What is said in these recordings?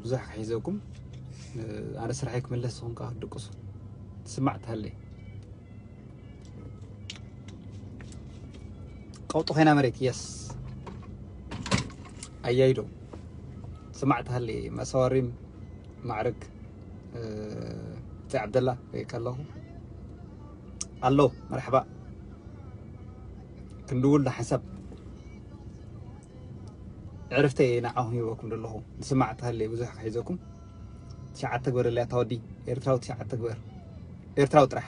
ብዙሕ ክሒዘኩም። ኣነ ስራሐይ ክምለስ፣ ንስኹም ከዓ ክትድቅሱ። ትስማዕ ትሃለይ። ቀውጢ ኮይና መሬት፣ የስ። ኣያይዶ። ስማዕ ትሃለይ። መሰዋሪም ማዕርግ፣ እ፣ ብጻይ ዓብደላ ሪኤካ ኣለኹ። ኣሎ፣ መርሓባ። ክንድውል ንሓንሳብ። ዕርፍተይ ንዓኹም ሂበኩም ዘለኹ። ንስማዕ ትሃለይ ብዙሕ ክሒዘኩም። ትሽዓተ ግበረለይ ኣታ ወዲ። ኤርትራዊ ትሽዓተ ግበር። ኤርትራዊ ጥራሕ።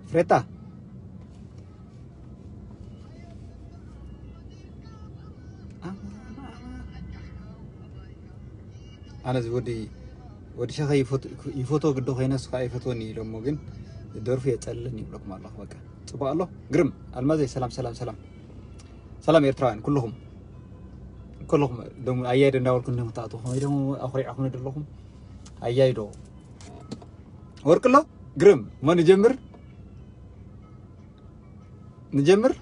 ፍሬታ። ኣነ እዚ ወዲ፣ ወዲ ሸኸ ይፈት-፣ ይፈትዎ ግዶ ኮይነ፣ ንሱ ከዓ ይፈትወኒ ኢሎሞ፣ ግን ደርፉ የጸልለኒ ይብለኩም ኣለኹ። በቃ ጽቡቕ ኣሎ። ግርም ኣልማዘይ፣ ሰላም፣ ሰላም፣ ሰላም። ሰላም ኤርትራውያን፣ ኩልኹም፣ ኩልኹም ደሞ ኣያይዶ እንዳበልኩ እንዲኹም ትኣትዉ፣ ከመይ ደሞ ኣኹሪዕኹም ዘለኹም። ኣያይዶ ወርቅሎ፣ ግርም፣ እሞ ንጀምር፣ ንጀምር።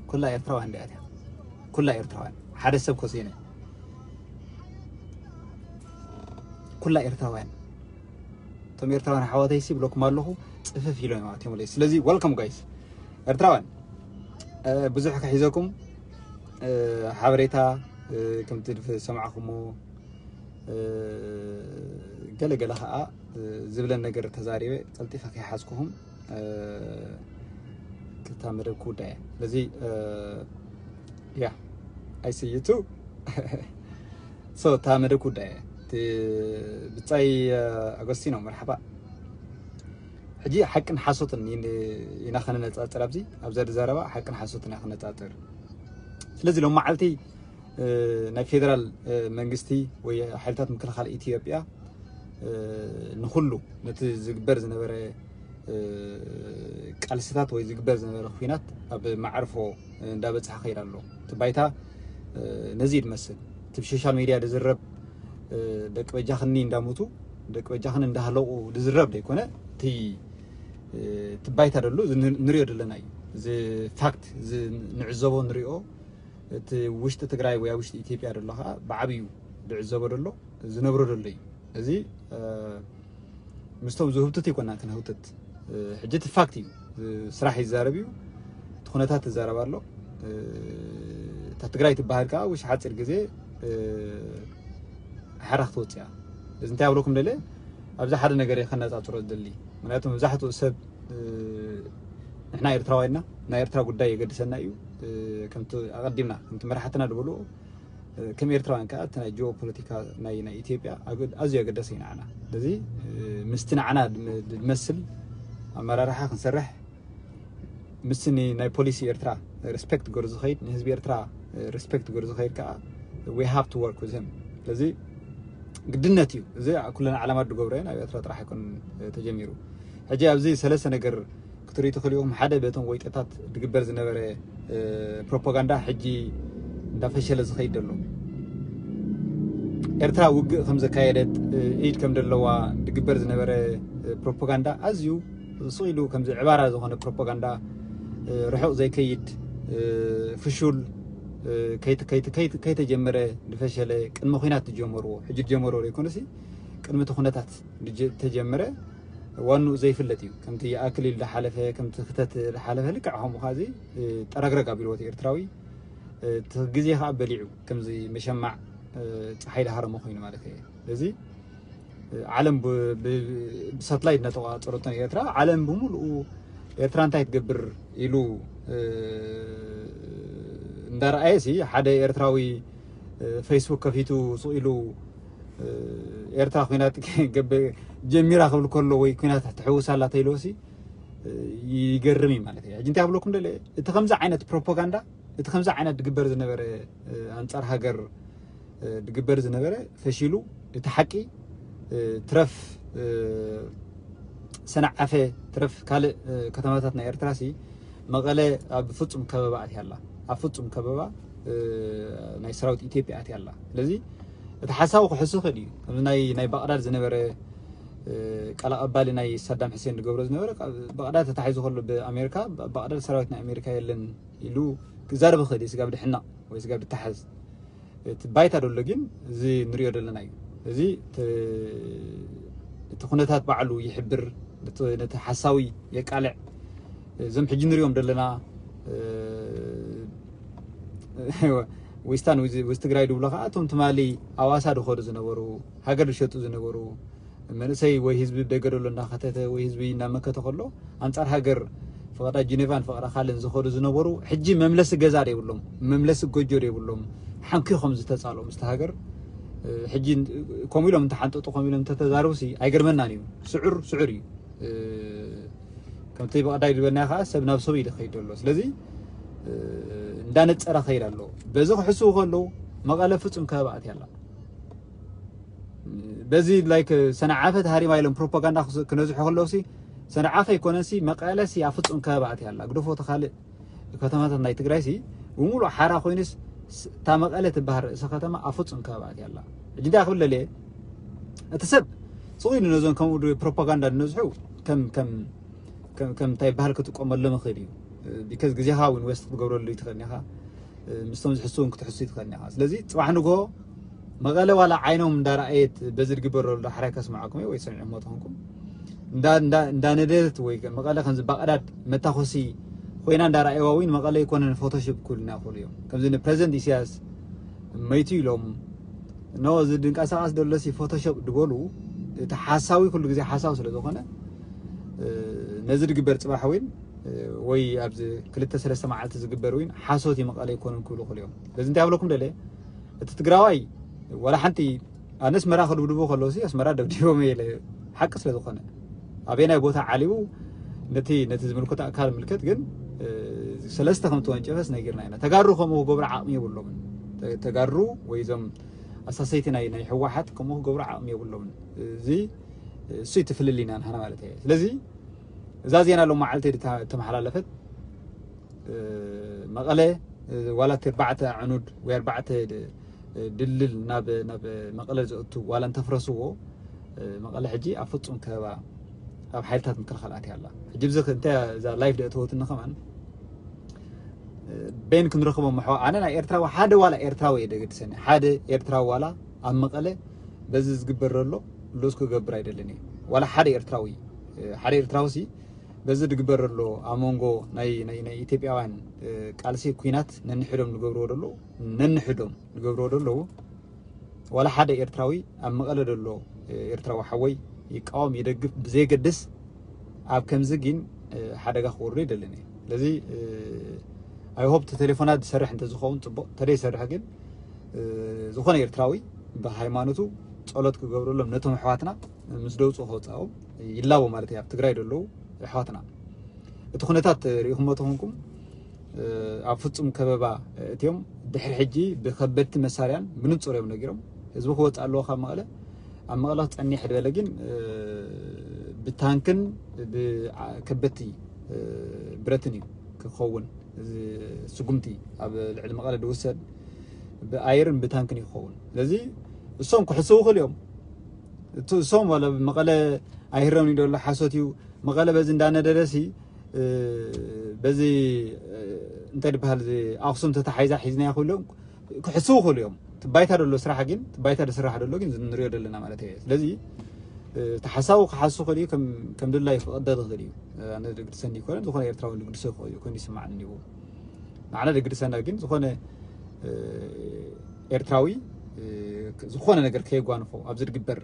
ኩላ ኤርትራውያን እንዲያ እቲያ። ኩላ ኤርትራውያን። ሓደ ሰብ ኮስ የለ። ኩላ ኤርትራውያን። እቶም ኤርትራውያን ኣሕዋተይሲ ብለኩም ኣለኹ፣ ጽፍፍ ኢሎም እዮም ኣትዮም ኣለይ። ስለዚ፣ ወልካም ጋይስ። ኤርትራውያን፣ እ፣ ብዙሕ ክሒዘኩም፣ እ፣ ሓበሬታ፣ እ፣ ከምቲ ዝሰማዕኹሞ፣ እ፣ ገለ ገለ ኸኣ፣ እ፣ ዝብለን ነገር ተዛሪበ፣ ቀልጢፈ ከይሓዝኩኹም፣ እ፣ ክልተ መደብ ክውዳእ እየ። ስለዚ፣ እ፣ ያ፣ I see you too። So፣ እታ መደብ ክውዳእ እየ። እቲ ብጻይ፣ እ፣ ኣጎስቲኖ፣ መርሓባ። ሕጂ ሓቅን ሓሶትን ይ-፣ ኢና ከነነጻጽር ኣብዚ፣ ኣብዛ ዘረባ ሓቅን ሓሶትን ኢና ከነጻጽር። ስለዚ ሎም መዓልቲ፣ እ፣ ናይ ፌደራል፣ እ፣ መንግስቲ ወይ ሓይልታት ምክልኻል ኢትዮጵያ፣ እ፣ ንኹሉ ነቲ ዝግበር ዝነበረ፣ እ፣ ቃልስታት ወይ ዝግበር ዝነበረ ኲናት ኣብ መዓርፎ እንዳበጽሐ ከይድ ኣሎ። እቲ ባይታ፣ እ፣ ነዚ እዩ ዝመስል። እቲ ብሶሻል ሚድያ ዝዝረብ፣ እ፣ ደቂ በጃኽኒ እንዳሞቱ፣ ደቂ በጃኽኒ እንዳሃለቑ ዝዝረብ ዘይኮነ፣ እቲ፣ እ፣ እቲ ባይታ ደሎ እዚ ን-፣ ንሪኦ ዘለና እዩ። እዚ ፋክት፣ እዚ ንዕዘቦ ንሪኦ፣ እቲ ውሽጢ ትግራይ ወይ ኣብ ውሽጢ ኢትዮጵያ ደሎ ከዓ ብዓብዩ ዝዕዘቦ ደሎ፣ ዝነብሮ ደሎ እዩ። እዚ፣ እ፣ ምስቶም ዝህውትት ይኮና ክንህውትት። እ፣ ሕጂ እቲ ፋክት እዩ። እ፣ ስራሕ ይዛረብ እዩ። እቲ ኩነታት ትዛረብ ኣሎ። እ፣ እታ ትግራይ ትበሃል ከዓ ውሽ ሓፂር ግዜ፣ እ፣ ሓራ ክትወፅእ እያ። እዚ እንታይ ኣብለኩም ደለ፣ ኣብዚ ሓደ ነገር እየ ከነፃፅሮ ዝደሊ። ምክንያቱ መብዛሕትኡ ሰብ፣ እ፣ ንሕና ኤርትራውያንና፣ ናይ ኤርትራ ጉዳይ የገድሰና እዩ። እ፣ ከምቲ ኣቐዲምና፣ ከምቲ መራሕትና ዝበልዎ፣ እ፣ ከም ኤርትራውያን ከኣ እቲ ናይ ጂኦፖለቲካ ናይ፣ ናይ ኢትዮጵያ ኣገ-፣ ኣዝዩ ኣገዳሲ እዩ ንዓና። ስለዚ፣ እ፣ ምስቲ ንዓና ድም-፣ ድመስል ኣመራርሓ ክንሰርሕ፣ ምስቲ ን-፣ ናይ ፖሊሲ ኤርትራ ሪስፔክት ገሩ ዝኸይድ፣ ንህዝቢ ኤርትራ፣ እ፣ ሪስፔክት ገሩ ዝኸይድ ከኣ we have to work with him። ስለዚ ግድነት እዩ። እዚ ኩለን ዓለማት ዝገብሮ እየን፣ ኣብ ኤርትራ ጥራሕ ኣይኮነን፣ እ፣ ተጀሚሩ። ሕጂ ኣብዚ ሰለስተ ነገር ክትርኢ ትኽእሉ ኢኹም። ሓደ በቶም ወይጠታት ዝግበር ዝነበረ፣ እ፣ ፕሮፓጋንዳ ሕጂ እንዳፈሸለ ዝኸይድ ዘሎ። ኤርትራ ውግእ ከም ዘካየደት፣ እ፣ ኢድ ከም ዘለዋ ዝግበር ዝነበረ፣ እ፣ ፕሮፓጋንዳ ኣዝዩ ስቕ ኢሉ ከምዚ ዕባራ ዝኾነ ፕሮፓጋንዳ፣ እ፣ ርሑቕ ዘይከይድ፣ እ፣ ፍሹል፣ እ፣ ከይተ-፣ ከይተ-፣ ከይተ-፣ ከይተጀመረ ዝፈሸለ ቅድሚ ኲናት ዝጀመርዎ፣ ሕጂ ዝጀመርዎ ዘይኮነሲ ቅድሚ እቲ ኩነታት ዝጀ-፣ ተጀመረ ዋንኡ ዘይፍለጥ እዩ። ከምቲ ኣክሊል ዝሓለፈ፣ ከምቲ ክተት ዝሓለፈ ልክዕ ከምኡ ኸዚ፣ እ፣ ጠረግረግ ኣቢልዎ እቲ ኤርትራዊ፣ እ፣ እቲ ግዜ ኸኣ በሊዑ ከምዚ መሸማዕ፣ እ፣ ጸሓይ ዝሃረሞ ኮይኑ ማለት እዩ። ስለዚ፣ እ፣ ዓለም ብ-፣ ብ-፣ ብሳትላይት እናተቆጻጸረቶ ኤርትራ፣ ዓለም ብምሉኡ ኤርትራ እንታይ ትገብር ኢሉ፣ እ፣ እንዳረኣየ ሲ ሓደ ኤርትራዊ፣ እ፣ ፌስቡክ ከፊቱ ስቕ ኢሉ፣ እ፣ ኤርትራ ኲናት ገበ-፣ ጀሚራ ክብል ከሎ ወይ ኲናት ትሕውስ ኣላ ተይልዎ ሲ፣ እ፣ ይገርም እዩ ማለት እዩ። ሕጂ እንታይ ኣብለኩም ደለ፣ እቲ ከምዚ ዓይነት ፕሮፓጋንዳ፣ እቲ ከምዚ ዓይነት ድግበር ዝነበረ፣ እ፣ ኣንጻር ሃገር፣ እ፣ ድግበር ዝነበረ ፈሺሉ፣ እቲ ሓቂ፣ እ፣ ትረፍ፣ እ፣ ሰንዓፈ፣ ትረፍ ካልእ፣ እ፣ ከተማታት ናይ ኤርትራ ሲ፣ መቐለ ኣብ ፍጹም ከበባ ኣትያ ኣላ። ኣብ ፍጹም ከበባ፣ እ፣ ናይ ሰራዊት ኢትዮጵያ ኣትያ ኣላ። ስለዚ እቲ ሓሳቡ ክሕሱ ይኽእል እዩ። ከምዚ ናይ፣ ናይ ባቕዳድ ዝነበረ፣ ቃል ኣቐባሊ ናይ ሳዳም ሕሴን ዝገብሮ ዝነበረ፣ ብቐዳ ተታሒዙ ከሎ ብኣሜሪካ፣ ብቐዳ ሰራዊት ናይ ኣሜሪካ የለን ኢሉ ክዛረብ ይኽእል እዩ፣ ስጋብ ድሕነቕ ወይ ስጋብ ድተሓዝ። እቲ ባይታ ደሎ ግን እዚ ንሪኦ ዘለና እዩ። እዚ እቲ ኩነታት ባዕሉ ይሕብር፣ ነቲ ሓሳዊ የቃልዕ። እዞም ሕጂ ንሪኦም ዘለና ዊስታን ዊዝ ትግራይ ድብሎ ከዓ እቶም ትማሊ ኣዋሳ ድኸዱ ዝነበሩ፣ ሃገር ዝሸጡ ዝነበሩ፣ መንእሰይ ወይ ህዝቢ ደገ ደሎ እናኸተተ ወይ ህዝቢ እናመከተ ከሎ፣ ኣንጻር ሃገር ፈቐዳ ጅኔቫን ፈቐዳ ካልእን ዝኸዱ ዝነበሩ፣ ሕጂ መምለሲ ገዛ ደይብሎም፣ መምለሲ ጎጆ ደይብሎም፣ ሓንኪ ከም ዝተጻልኦም ምስቲ ሃገር። ሕጂ ከምኡ ኢሎም እንተሓንጠጡ፣ ከምኡ ኢሎም እንተተዛረቡሲ ኣይገርመናን እዩ። ስዑር ስዑር እዩ። ከምቲ ብቐዳይ ዝበልናዮ ከዓ ሰብ ናብ ሰብ እዩ ዝኸይድ ዘሎ። ስለዚ እንዳነጸረ ከይድ ኣሎ። በዚ ክሕስቡ ከለዉ መቐለ ፍጹም ከበባ ኣትያ ኣላ። በዚ ላይክ ሰንዓፈ ተሃሪማ ኢሎም ፕሮፓጋንዳ ክነዝሑ ከለውሲ፣ ሰንዓፈ ኣይኮነሲ፣ መቐለሲ ኣብ ፍጹም ከበባ ኣትያ ኣላ። ግደፎ እቲ ካልእ ከተማታት ናይ ትግራይሲ ብምሉእ ሓራ ኮይኑስ፣ እታ መቐለ ትበሃል ርእሲ ከተማ ኣብ ፍጹም ከበባ ኣትያ ኣላ። ሕጂ እንታይ ክብል ደልየ፣ እቲ ሰብ ስቕ ኢሉ ነዞም ከምኡ ፕሮፓጋንዳ ዝነዝሑ ከም ከም ከም እንታይ ይበሃል ክጥቀመሎም ይኽእል እዩ። ቢካዝ ግዜኻ እውን ዌስት ክትገብረሉ ይትኽእል ኢኻ። ምስቶም ዝሕሱ እውን ክትሕሱ ይትኽእል ኢኻ። ስለዚ ፅባሕ ንግሆ መቐለ ዋላ ዓይኖም እንዳረኣየት በዚ ዝግበር ዘሎ ዳሕራይ ከስምዓኩም እየ ወይ ሰሚዕሞ ተኾንኩም፣ እንዳነደደት ወይ መቐለ ከምዚ ባቕዳድ መታኮሲ ኮይና እንዳረኣየዋ እውን መቐለ ኣይኮነን ፎቶሾፕ ክብሉና ይኽእሉ እዮም። ከምዚ ንፕረዚደንት ኢሳያስ መይቱ ኢሎም ኖ እዚ ድንቀሳቐስ ደሎሲ ፎቶሾፕ ድበሉ፣ እቲ ሓሳዊ ኩሉ ግዜ ሓሳዊ ስለ ዝኾነ ነዚ ድግበር ፅባሕ እውን ወይ ኣብዚ ክልተ ሰለስተ መዓልቲ ዝግበር እውን ሓሶት ይመቐለ ኣይኮኑን ክብሉ ክልኦም። ስለዚ እንታይ ኣብለኩም ደለ እቲ ትግራዋይ ዋላ ሓንቲ ኣነ ኣስመራ ክድብድቡ ከለውሲ ኣስመራ ደብዲቦም ኢለ ሓቂ ስለ ዝኾነ ኣበየናይ ቦታ ዓሊቡ ነቲ ነቲ ዝምልከቶ ኣካል ምልከት ግን ሰለስተ ከም ተወንጨፈስ ነጊርና ኢና። ተጋሩ ከምኡ ክገብሩ ዓቕሚ የብሎምን። ተጋሩ ወይ እዞም ኣሳሰይቲ ናይ ናይ ህወሓት ከምኡ ክገብሩ ዓቕሚ የብሎምን። እዚ እሱ ይትፍልል ኢና ንሓና ማለት እየ። ስለዚ እዛ ዜና ሎም መዓልቲ ተመሓላለፈት መቐለ ዋላ እቲ ኣርባዕተ ዕኑድ ወይ ኣርባዕተ ድልድል ናብ ናብ መቐለ ዘእቱ ዋላ እንተፍረስዎ መቐለ ሕጂ ኣብ ፍጹም ከበባ ኣብ ሓይልታት ምክልኻል ኣትያ ኣላ። ሕጂ ብዚ እንታይ እዛ ላይፍ ደእተወትኒ ከማን ቤን ክንረኽቦ ምሕዋ ኣነ ናይ ኤርትራዊ ሓደ ዋላ ኤርትራዊ እየ ደገድሰኒ ሓደ ኤርትራዊ ዋላ ኣብ መቐለ በዚ ዝግበር ዘሎ ሉዝ ክገብር ኣይደልን እየ። ዋላ ሓደ ኤርትራዊ ሓደ ኤርትራዊ ሲ በዚ ድግበር ኣሎ ኣብ መንጎ ናይ ናይ ናይ ኢትዮጵያውያን ቃልሲ ኩናት ነንሕዶም ዝገብርዎ ደሎ ነንሕዶም ዝገብርዎ ደለዉ ዋላ ሓደ ኤርትራዊ ኣብ መቐለ ደሎ ኤርትራዊ ሓወይ ይቃወም ይደግፍ ብዘይገድስ ኣብ ከምዚ ግን ሓደጋ ክወርዶ ይደልን እየ። ስለዚ ኣይ ሆፕ ተሌፎናት ዝሰርሕ እንተዝኸውን ፅቡቅ ተደይ ሰርሕ ግን ዝኾነ ኤርትራዊ ብሃይማኖቱ ጸሎት ክገብረሎም ነቶም ኣሕዋትና ምስ ደውፁ ከውፃኦም ይላቦ ማለት እዩ ኣብ ትግራይ ዘለዉ ኣሕዋትና እቲ ኩነታት ርኢኹሞ ተኾንኩም ኣብ ፍጹም ከበባ እትዮም ድሕሪ ሕጂ ብከበድቲ መሳርያን ብንጹር እዮም ነጊሮም ህዝቢ ክወፅእ ኣለዎ ካብ መቐለ ኣብ መቐለ ክፀኒሕ ድበለ ግን ብታንክን ብከበድቲ ብረትን እዩ ክኸውን ስጉምቲ ኣብ ልዕሊ መቐለ ዝውሰድ ብኣየርን ብታንክን ይኸውን ስለዚ እሶም ክሕስቡ ክእል እዮም እሶም መቐለ ኣይህረምን ይደሎ ሓሶት እዩ መቐለ በዚ እንዳነደደሲ በዚ እንታይ ዝበሃል ኣክሱም ተታሓይዛ ሒዝናያ ክብሉ እዮም ክሕስቡ ክእሉ እዮም ትባይታ ደሎ ስራሕ ግን ትባይታ ዝስራሕ ደሎ ግን ንሪኦ ዘለና ማለት እየ ስለዚ ተሓሳቡ ክሓሱ ክእል እዩ ከም ድላይ ክቐደ ዝኽእል እዩ ኣነ ድግድሰኒ ይኮነ ዝኾነ ኤርትራዊ ድግድሶ ይኮነ ይስማዕኒ እዩ ንዓና ድግድሰና ግን ዝኾነ ኤርትራዊ ዝኾነ ነገር ከየጓንፎ ኣብዚ ድግበር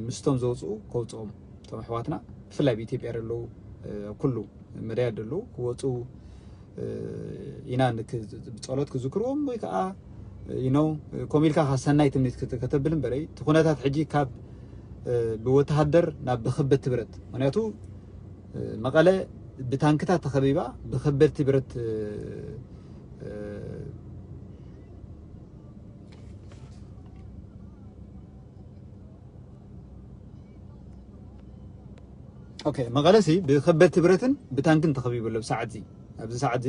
ምስቶም ዘውፅኡ ከውፅኦም እቶም ኣሕዋትና ብፍላይ ብኢትዮጵያ ዘለዉ ኩሉ መዳያት ዘለዉ ክወፁ ኢና ብፀሎት ክዝክርዎም ወይ ከዓ ኢኖ ከምኡ ኢልካ ሰናይ ትምኒት ከተብል እምበረይ እቲ ኩነታት ሕጂ ካብ ብወተሃደር ናብ ብክበት ትብረት ምክንያቱ መቐለ ብታንክታት ተኸቢባ ብከበድቲ ብረት ኦኬ መቐለሲ ብከበድቲ ብረትን ብታንክን ተኸቢቡ ኣሎ ብሰዓት እዚ ኣብዚ ሰዓት እዚ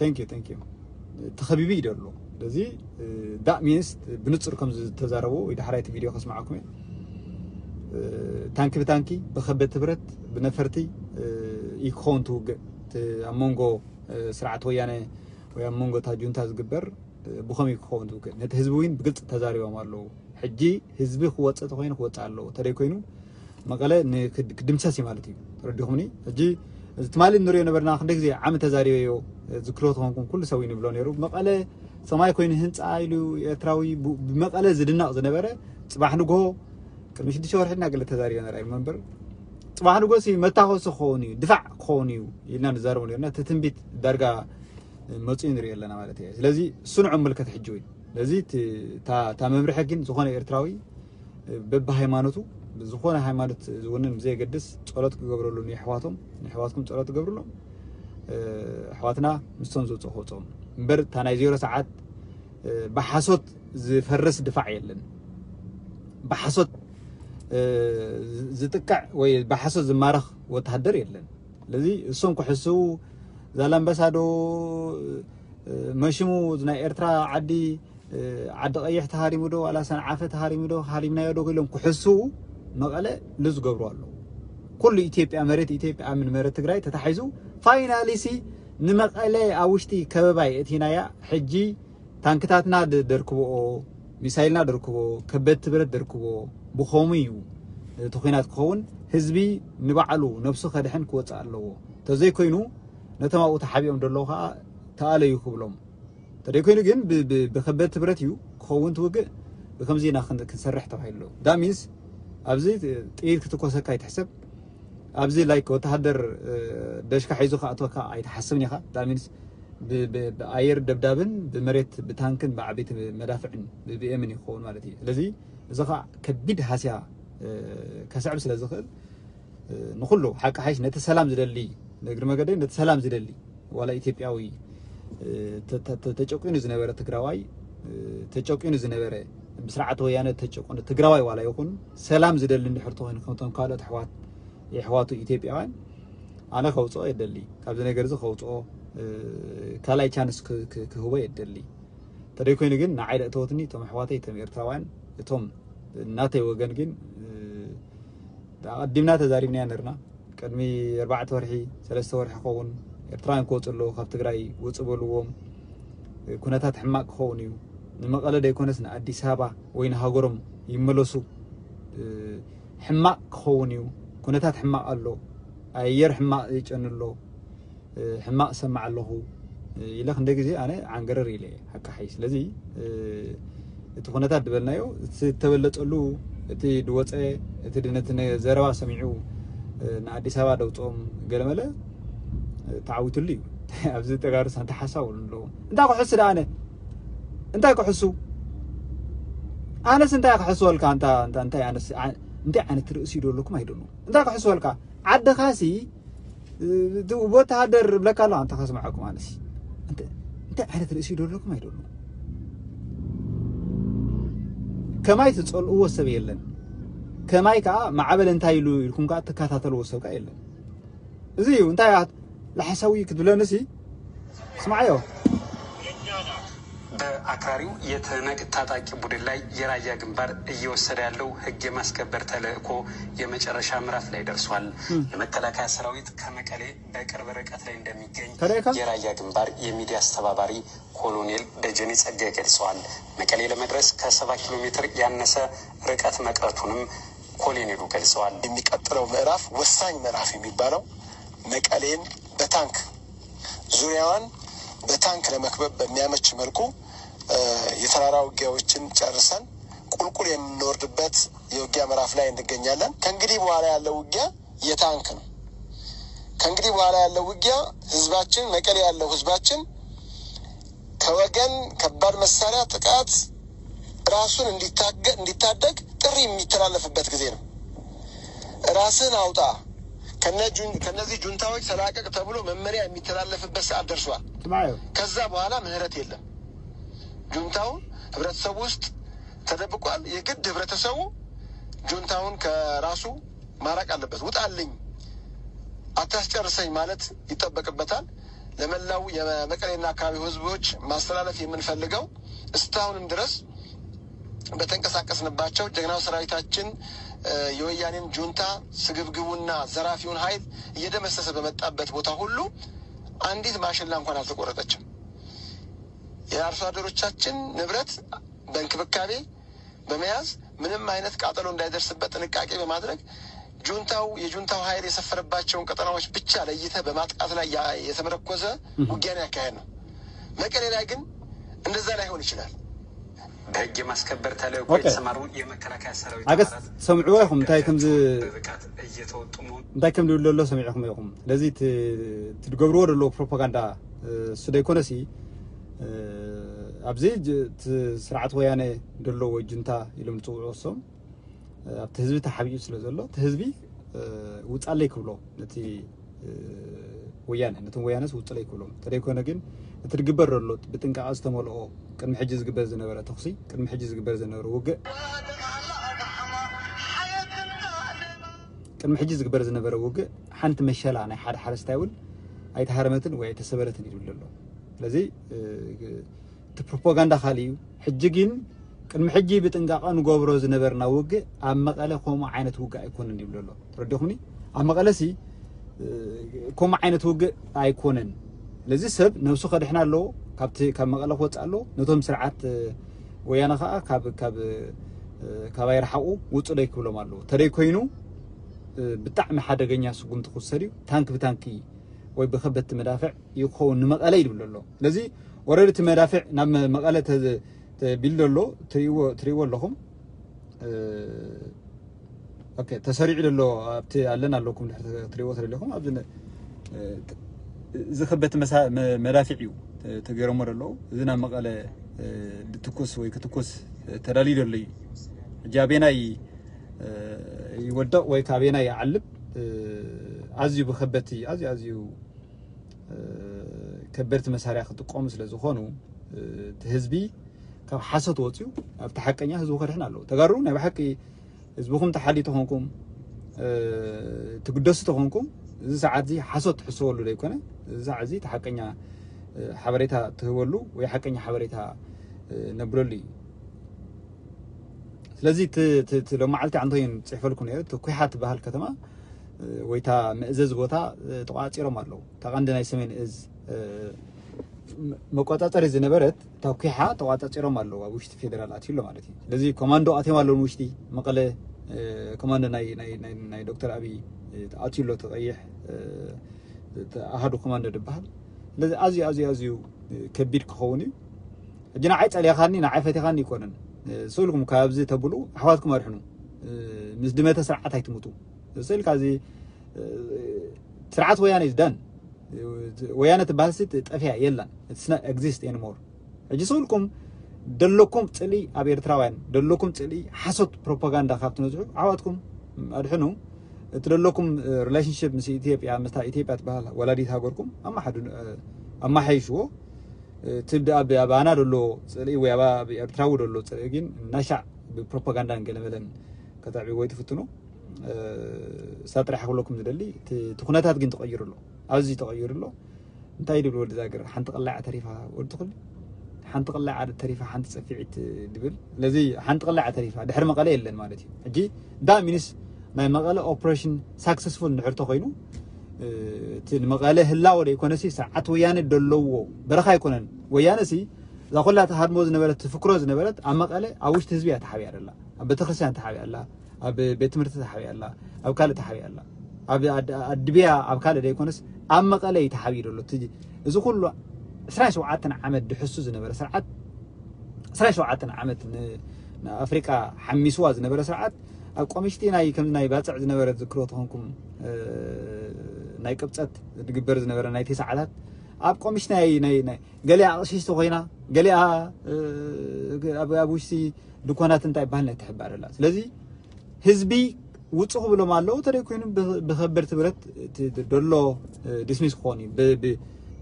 thank you thank you ተኸቢቡ እዩ ዘሎ ስለዚ ዳእ ሚንስ ብንጹር ከም ዝተዛረቡ ወይ ዳሕራይቲ ቪድዮ ከስምዓኩም እየ። ታንኪ ብታንኪ፣ ብከበድቲ ብረት፣ ብነፈርቲ እዩ ክኸውን ትውግእ። እቲ ኣብ መንጎ ስርዓት ወያነ ወይ ኣብ መንጎ እታ ጁንታ ዝግበር ብኸም እዩ ክኸውን ትውግእ። ነቲ ህዝቢ እውን ብግልፂ ተዛሪቦም ኣለዉ። ሕጂ ህዝቢ ክወፅእ ተኮይኑ ክወፅእ ኣለዎ። ተደይ ኮይኑ መቐለ ክድምሰስ እዩ ማለት እዩ። ተረዲኹምኒ? ሕጂ እዚ ትማሊ ንሪኦ ነበርና። ክንደ ግዜ ዓሚ ተዛሪበዮ ዝክሮ ተኾንኩም ኩሉ ሰብ እዩ ንብሎ ነይሩ። መቐለ ሰማይ ኮይኑ ህንፃ ኢሉ ኤርትራዊ ብመቐለ ዝድነቕ ዝነበረ፣ ፅባሕ ንግሆ ቅድሚ ሽዱሽተ ወርሒ እና ገለ ተዛሪበ ነራ እዩ መንበር፣ ፅባሕ ንግሆ ሲ መታኮሲ ክኸውን እዩ፣ ድፋዕ ክኸውን እዩ ኢልና ንዛረቡ ነርና። እቲ ትንቢት ዳርጋ መፅኡ ንሪኦ ኣለና ማለት እዩ። ስለዚ እሱ ንዑ ምልከት ሕጂ ወይ ስለዚ እታ መምርሒ ግን ዝኾነ ኤርትራዊ በብሃይማኖቱ፣ ዝኾነ ሃይማኖት ዝውንን ብዘየገድስ ጸሎት ክገብረሉ ንየሕዋቶም፣ ንየሕዋትኩም ጸሎት ትገብርሎም። ኣሕዋትና ምስቶም ዝውፅኡ ክውፅኦም እምበር እታ ናይ ዜሮ ሰዓት ብሓሶት ዝፈርስ ድፋዕ የለን። ብሓሶት ዝጥቅዕ ወይ ብሓሶት ዝማረኽ ወተሃደር የለን። ስለዚ እሶም ክሕስው ዛላምበሳ ዶ መሽሙ ናይ ኤርትራ ዓዲ ዓዲ ቀይሕ ተሃሪሙ ዶ ዋላ ሰንዓፈ ተሃሪሙ ዶ ሃሪምናዮ ዶ ኢሎም ክሕስው መቐለ ልዝገብሩ ኣለዉ። ኩሉ ኢትዮጵያ መሬት ኢትዮጵያ ምን መሬት ትግራይ ተታሒዙ ፋይናሊ ሲ ንመቐለ ኣብ ውሽጢ ከበባይ እቲናያ። ሕጂ ታንክታትና ደርክብኦ፣ ሚሳይልና ደርክቦ፣ ከበድቲ ብረት ደርክቦ። ብኸሙ እዩ እቲ ኩናት ክኸውን። ህዝቢ ንባዕሉ ነብሱ ከድሕን ክወፅእ ኣለዎ። ተዘይኮይኑ ነቶም ኣብኡ ተሓቢኦም ዘለዉ ከዓ ተኣለዩ ክብሎም። ተደይኮይኑ ግን ብከበድቲ ብረት እዩ ክኸውን ትውግእ። ብከምዚ ኢና ክንሰርሕ ተባሂሉ። ዳሚንስ ኣብዚ ጥይት ክትኮሰካ ኣይትሕሰብ። ኣብዚ ላይክ ወተሃደር ደሽካ ሒዙ ክኣትወካ ኣይትሓስብን ኢኻ። ዳሚንስ ብኣየር ደብዳብን ብመሬት ብታንክን ብዓበይቲ መዳፍዕን ብቢኤምን ይኸውን ማለት እዩ። ስለዚ እዚ ከዓ ከቢድ ሃስያ ከስዕብ ስለ ዝኽእል ንኩሉ ሓቂ ሓይሽ ነቲ ሰላም ዝደሊ ንእግሪ መገደይ ነቲ ሰላም ዝደሊ ዋላ ኢትዮጵያዊ ተጨቂኑ ዝነበረ ትግራዋይ ተጨቂኑ ዝነበረ ብስርዓት ወያነ ተጨቁኑ ትግራዋይ ዋላ ይኹን ሰላም ዝደሊ እንድሕር ተኮይኑ ከምቶም ካልኦት ኣሕዋት የሕዋቱ ኢትዮጵያውያን ኣነ ከውፅኦ የደሊ። ካብዚ ነገር እዚ ከውፅኦ ካልኣይ ቻንስ ክህቦ የደሊ። ተደይኮይኑ ግን ንዓይ ደእተወትኒ እቶም ኣሕዋተይ እቶም ኤርትራውያን እቶም እናተይ ወገን ግን ኣቐዲምና ተዛሪብናያ ነርና። ቅድሚ ኣርባዕተ ወርሒ ሰለስተ ወርሒ ክኸውን ኤርትራውያን ክወፁ ኣለዉ ካብ ትግራይ ውፁ በልዎም። ኩነታት ሕማቅ ክኸውን እዩ። ንመቐለ ደይኮነስ ንኣዲስ ኣበባ ወይ ንሃገሮም ይመለሱ። ሕማቅ ክኸውን እዩ። ኩነታት ሕማቅ ኣሎ። ኣየር ሕማቅ ይጨኑ ኣሎ። ሕማቅ ሰማዕ ኣለኹ ኢለ ክንደ ግዜ ኣነ ዓንገረር ኢለ እየ ሓቂ ሓይ። ስለዚ እቲ ኩነታት ዝበልናዮ እቲ ዝተበለፀሉ እቲ ድወፀ እቲ ድነቲ ዘረባ ሰሚዑ ንኣዲስ ኣበባ ደውፅኦም ገለመለ ተዓዊትሉ እዩ። ኣብዚ ተጋሩ ሳንታ ሓሳብ ኣለዎ። እንታይ ክሕሱ ደኣ ኣነ እንታይ ክሕሱ ኣነስ እንታይ ክሕስወልካ እንታይ ዓይነት ርእሲ ዶ ኣለኩም ኣይደሉ እንታይ ክሕስወልካ ዓድኻሲ ወተሃደር ብለካ ኣሎ ኣንታ ከስምዓኩም ኣነሲ እንታይ ዓይነት ርእሲ ዶ ኣለኩም ኣይደሉ ከማይ ትፀልእዎ ሰብ የለን። ከማይ ከዓ ማዕበል እንታይ ኢሉ ኢልኩም ከዓ ትከታተልዎ ሰብ ከዓ የለን። እዚ እዩ እንታይ ለሓሳዊ ክትብለንሲ ስማዓዮ። በአክራሪው የትህነግ ታጣቂ ቡድን ላይ የራያ ግንባር እየወሰደ ያለው ህግ የማስከበር ተልእኮ የመጨረሻ ምዕራፍ ላይ ደርሷል። የመከላከያ ሰራዊት ከመቀሌ በቅርብ ርቀት ላይ እንደሚገኝ የራያ ግንባር የሚዲያ አስተባባሪ ኮሎኔል ደጀኔ ጸጋይ ገልጸዋል። መቀሌ ለመድረስ ከሰባ ኪሎ ሜትር ያነሰ ርቀት መቅረቱንም ኮሎኔሉ ገልጸዋል። የሚቀጥለው ምዕራፍ ወሳኝ ምዕራፍ የሚባለው መቀሌን በታንክ ዙሪያዋን በታንክ ለመክበብ በሚያመች መልኩ የተራራ ውጊያዎችን ጨርሰን ቁልቁል የምንወርድበት የውጊያ ምዕራፍ ላይ እንገኛለን። ከእንግዲህ በኋላ ያለው ውጊያ የታንክ ነው። ከእንግዲህ በኋላ ያለው ውጊያ ህዝባችን መቀሌ ያለው ህዝባችን ከወገን ከባድ መሳሪያ ጥቃት ራሱን እንዲታደግ ጥሪ የሚተላለፍበት ጊዜ ነው። ራስን አውጣ፣ ከነዚህ ጁንታዎች ተላቀቅ ተብሎ መመሪያ የሚተላለፍበት ሰዓት ደርሷል። ከዛ በኋላ ምህረት የለም። ጁንታው ህብረተሰቡ ውስጥ ተደብቋል። የግድ ህብረተሰቡ ጁንታውን ከራሱ ማራቅ አለበት። ውጣልኝ፣ አታስጨርሰኝ ማለት ይጠበቅበታል። ለመላው የመቀሌና አካባቢው ህዝቦች ማስተላለፍ የምንፈልገው እስካሁንም ድረስ በተንቀሳቀስንባቸው ጀግናው ሰራዊታችን የወያኔን ጁንታ ስግብግቡና ዘራፊውን ኃይል እየደመሰሰ በመጣበት ቦታ ሁሉ አንዲት ማሽላ እንኳን አልተቆረጠችም። የአርሶ አደሮቻችን ንብረት በእንክብካቤ በመያዝ ምንም አይነት ቃጠሎ እንዳይደርስበት ጥንቃቄ በማድረግ ጁንታው የጁንታው ኃይል የሰፈረባቸውን ቀጠናዎች ብቻ ለይተ በማጥቃት ላይ የተመረኮዘ ውጊያን ያካሄድ ነው። መቀሌ ላይ ግን እንደዛ ላይሆን ይችላል። በህግ የማስከበር ተልእኮ የተሰማሩ የመከላከያ ሰራዊት አባላት ሰምዕዎ ኢኹም እንታይ ከምዚ ብብቃት እየተወጡ መሆኑ እንታይ ከም ድብል ዘሎ ሰሚዕኹም ኢኹም። ስለዚ ትድገብርዎ ዘለዎ ፕሮፓጋንዳ እሱ ደይኮነሲ ኣብዚ ስርዓት ወያነ ደሎ ወይ ጁንታ ኢሎም ዝፅውዑ እሶም ኣብቲ ህዝቢ ተሓቢኡ ስለ ዘሎ እቲ ህዝቢ ውፃለይ ክብሎ ነቲ ወያነ ነቶም ወያነስ ውፅለይ ክብሎም እንተደይኮነ ግን እቲ ዝግበር ዘሎ ብጥንቃቐ ዝተመልኦ ቅድሚ ሕጂ ዝግበር ዝነበረ ተኽሲ ቅድሚ ሕጂ ዝግበር ዝነበረ ውግእ ቅድሚ ሕጂ ዝግበር ዝነበረ ውግእ ሓንቲ መሸላ ናይ ሓደ ሓረስታይ እውን ኣይተሃረመትን ወይ ኣይተሰበረትን ይብል ዘሎ። ስለዚ እቲ ፕሮፓጋንዳ ካልእ እዩ። ሕጂ ግን ቅድሚ ሕጂ ብጥንቃቐ ንገብሮ ዝነበርና ውግእ ኣብ መቐለ ከምኡ ዓይነት ውግእ ኣይኮነን ይብል ዘሎ። ተረዲኹምኒ? ኣብ መቐለ ሲ ከምኡ ዓይነት ውግእ ኣይኮነን። ስለዚ ሰብ ነብሱ ከድሕና ኣለዎ፣ ካብቲ ካብ መቐለ ክወፅእ ኣለዎ። ነቶም ስርዓት ወያነ ከዓ ካብ ካብ ካባይ ረሓቑ ውፁ ደይ ክብሎም ኣለዎ። ተደይ ኮይኑ ብጣዕሚ ሓደገኛ ስጉምቲ ክውሰድ እዩ። ታንክ ብታንኪ ወይ ብከበድቲ መዳፍዕ ይኸውን ንመቐለ ይብል ኣሎ። ስለዚ ወረድ እቲ መዳፍዕ ናብ መቐለ ተቢሉ ዘሎ ትሪእዎ ኣለኹም። ተሰሪዑ ዘሎ ኣብቲ ኣለን ኣለኩም ትሪእዎ ተደለኹም ኣብዚ እዚ ከበድቲ መዳፍዕ እዩ ተገይሮሞ ዘለዉ። እዚ ናብ መቐለ ድትኩስ ወይ ክትኩስ ተዳልዩ ዘሎ እዩ። ሕጂ ኣበየናይ ይወደቕ ወይ ካበየናይ ይዓልብ ኣዝዩ ብከበድቲ ኣዝዩ ኣዝዩ ከበድቲ መሳርያ ክጥቀሙ ስለ ዝኾኑ እቲ ህዝቢ ካብ ሓሶት ወፅዩ ኣብቲ ሓቀኛ ህዝቡ ከድሕን ኣለዎ። ተጋሩ ናይ ብሓቂ ህዝብኹም ተሓልዩ ተኾንኩም ትግደሱ ተኾንኩም እዚ ሰዓት እዚ ሓሶት ትሕስበሉ ዘይኮነ እዚ ሰዓት እዚ እቲ ሓቀኛ ሓበሬታ ትህበሉ ወይ ሓቀኛ ሓበሬታ ነብለሉ እዩ። ስለዚ ሎመዓልቲ ኣንቶይን ፅሕፈልኩ ነይሩ እቲ ኩሓ ትበሃል ከተማ ወይታ መእዘዝ ቦታ ተቋፂሮም ኣለዉ። እታ ቀንዲ ናይ ሰሜን እዝ መቆፃፀሪ ዝነበረት እታ ኩሓ ተቋፃፂሮም ኣለዉ። ኣብ ውሽጢ ፌደራል ኣትዩ ኣሎ ማለት እዩ። ስለዚ ኮማንዶ ኣትዮም ኣለዉ ንውሽጢ መቐለ ኮማንዶ ናይ ዶክተር ኣብይ ኣትዩ ኣሎ። ተቐይሕ ኣሃዱ ኮማንዶ ዝበሃል ስለዚ ኣዝዩ ኣዝዩ ኣዝዩ ከቢድ ክኸውን እዩ። ሕጂ ንዓይ ፀሊኻኒ ንዓይ ፈቲኻኒ ይኮነን። ስእልኩም ካብዚ ተብሉ ኣሕዋትኩም ኣድሕኑ። ምስ ድመተ ስርዓት ኣይትሙቱ። ስእልካ እዚ ስርዓት ወያነ is done። ወያነ ትበሃል ሲ ጠፊያ የላን። It's not exist anymore። ሕጂ ስእልኩም ደለኩም ፅልኢ ኣብ ኤርትራውያን ደለኩም ፅልኢ ሓሶት ፕሮፓጋንዳ ካብ ትነዝሑ ኣሕዋትኩም ኣድሕኑ። እቲ ደለኩም relationship ምስ ኢትዮጵያ ምስታ ኢትዮጵያ ትበሃል ወላዲት ሃገርኩም ኣማሓዱ ኣማሓይሽዎ። እቲ ኣባና ደሎ ፅልኢ ወይ ኣብ ኤርትራዊ ደሎ ፅልኢ ግን እናሻዕ ብፕሮፓጋንዳን ገለመለን ከተዕብዎ ይትፍትኑ። እሳ ጥራሕ ክብለኩም ዝደሊ እቲ ኩነታት ግን ተቐይሩ ኣሎ። ኣዝዩ ተቐይሩ ኣሎ። እንታይ ድብል ወዲ ዛግር ሓንቲ ቅላዕ ተሪፋ ወዲ ትኽል ሓንቲ ቅላዕ ዓደ ተሪፋ ሓንቲ ፀፊዒት ድብል ስለዚ ሓንቲ ቅላዕ ተሪፋ ድሕሪ መቐለ የለን ማለት እዩ። ሕጂ እንዳ ሚኒስ ናይ መቐለ ኦፕሬሽን ሳክሰስፉል እንድሕር ተኮይኑ እቲ ንመቐለ ህላወ ደይኮነሲ ስርዓት ወያነ ደለዎ በረኻ ኣይኮነን። ወያነ ሲ እዛ ኩላ ተሃድሞ ዝነበረት ትፍክሮ ዝነበረት ኣብ መቐለ ኣብ ውሽጢ ህዝቢ እያ ተሓቢያ ደላ ኣብ ቤተክርስትያን ተሓቢያ ኣላ ኣብ ቤት ትምህርቲ ተሓቢያ ኣላ ኣብ ካልእ ተሓቢያ ኣላ ኣብ ኣድብያ ኣብ ካልእ ደይኮነስ ኣብ መቐለ እዩ ተሓቢዩ ደሎ። እዚ ኩሉ ዕስራን ሸውዓተን ዓመት ድሕሱ ዝነበረ ስርዓት ዕስራን ሸውዓተን ዓመት ንኣፍሪቃ ሓሚስዋ ዝነበረ ስርዓት ኣብ ቆምሽቲ ናይ ከም ናይ ባፅዕ ዝነበረ ዝክሮ ተኾንኩም ናይ ቅብፀት ዝግበር ዝነበረ ናይ ተሰዓታት ኣብ ቆምሽቲ ናይ ገሊኣ ኣቕሽሽቲ ኮይና ገሊኣ ኣብ ውሽጢ ድኮናት እንታይ ይበሃል ናይ ትሕባር ኣላ። ስለዚ ህዝቢ ውፁ ክብሎም ኣለዉ ተደይ ኮይኑ ብከበድቲ ብረት ደሎ ዲስሚስ ክኾን እዩ።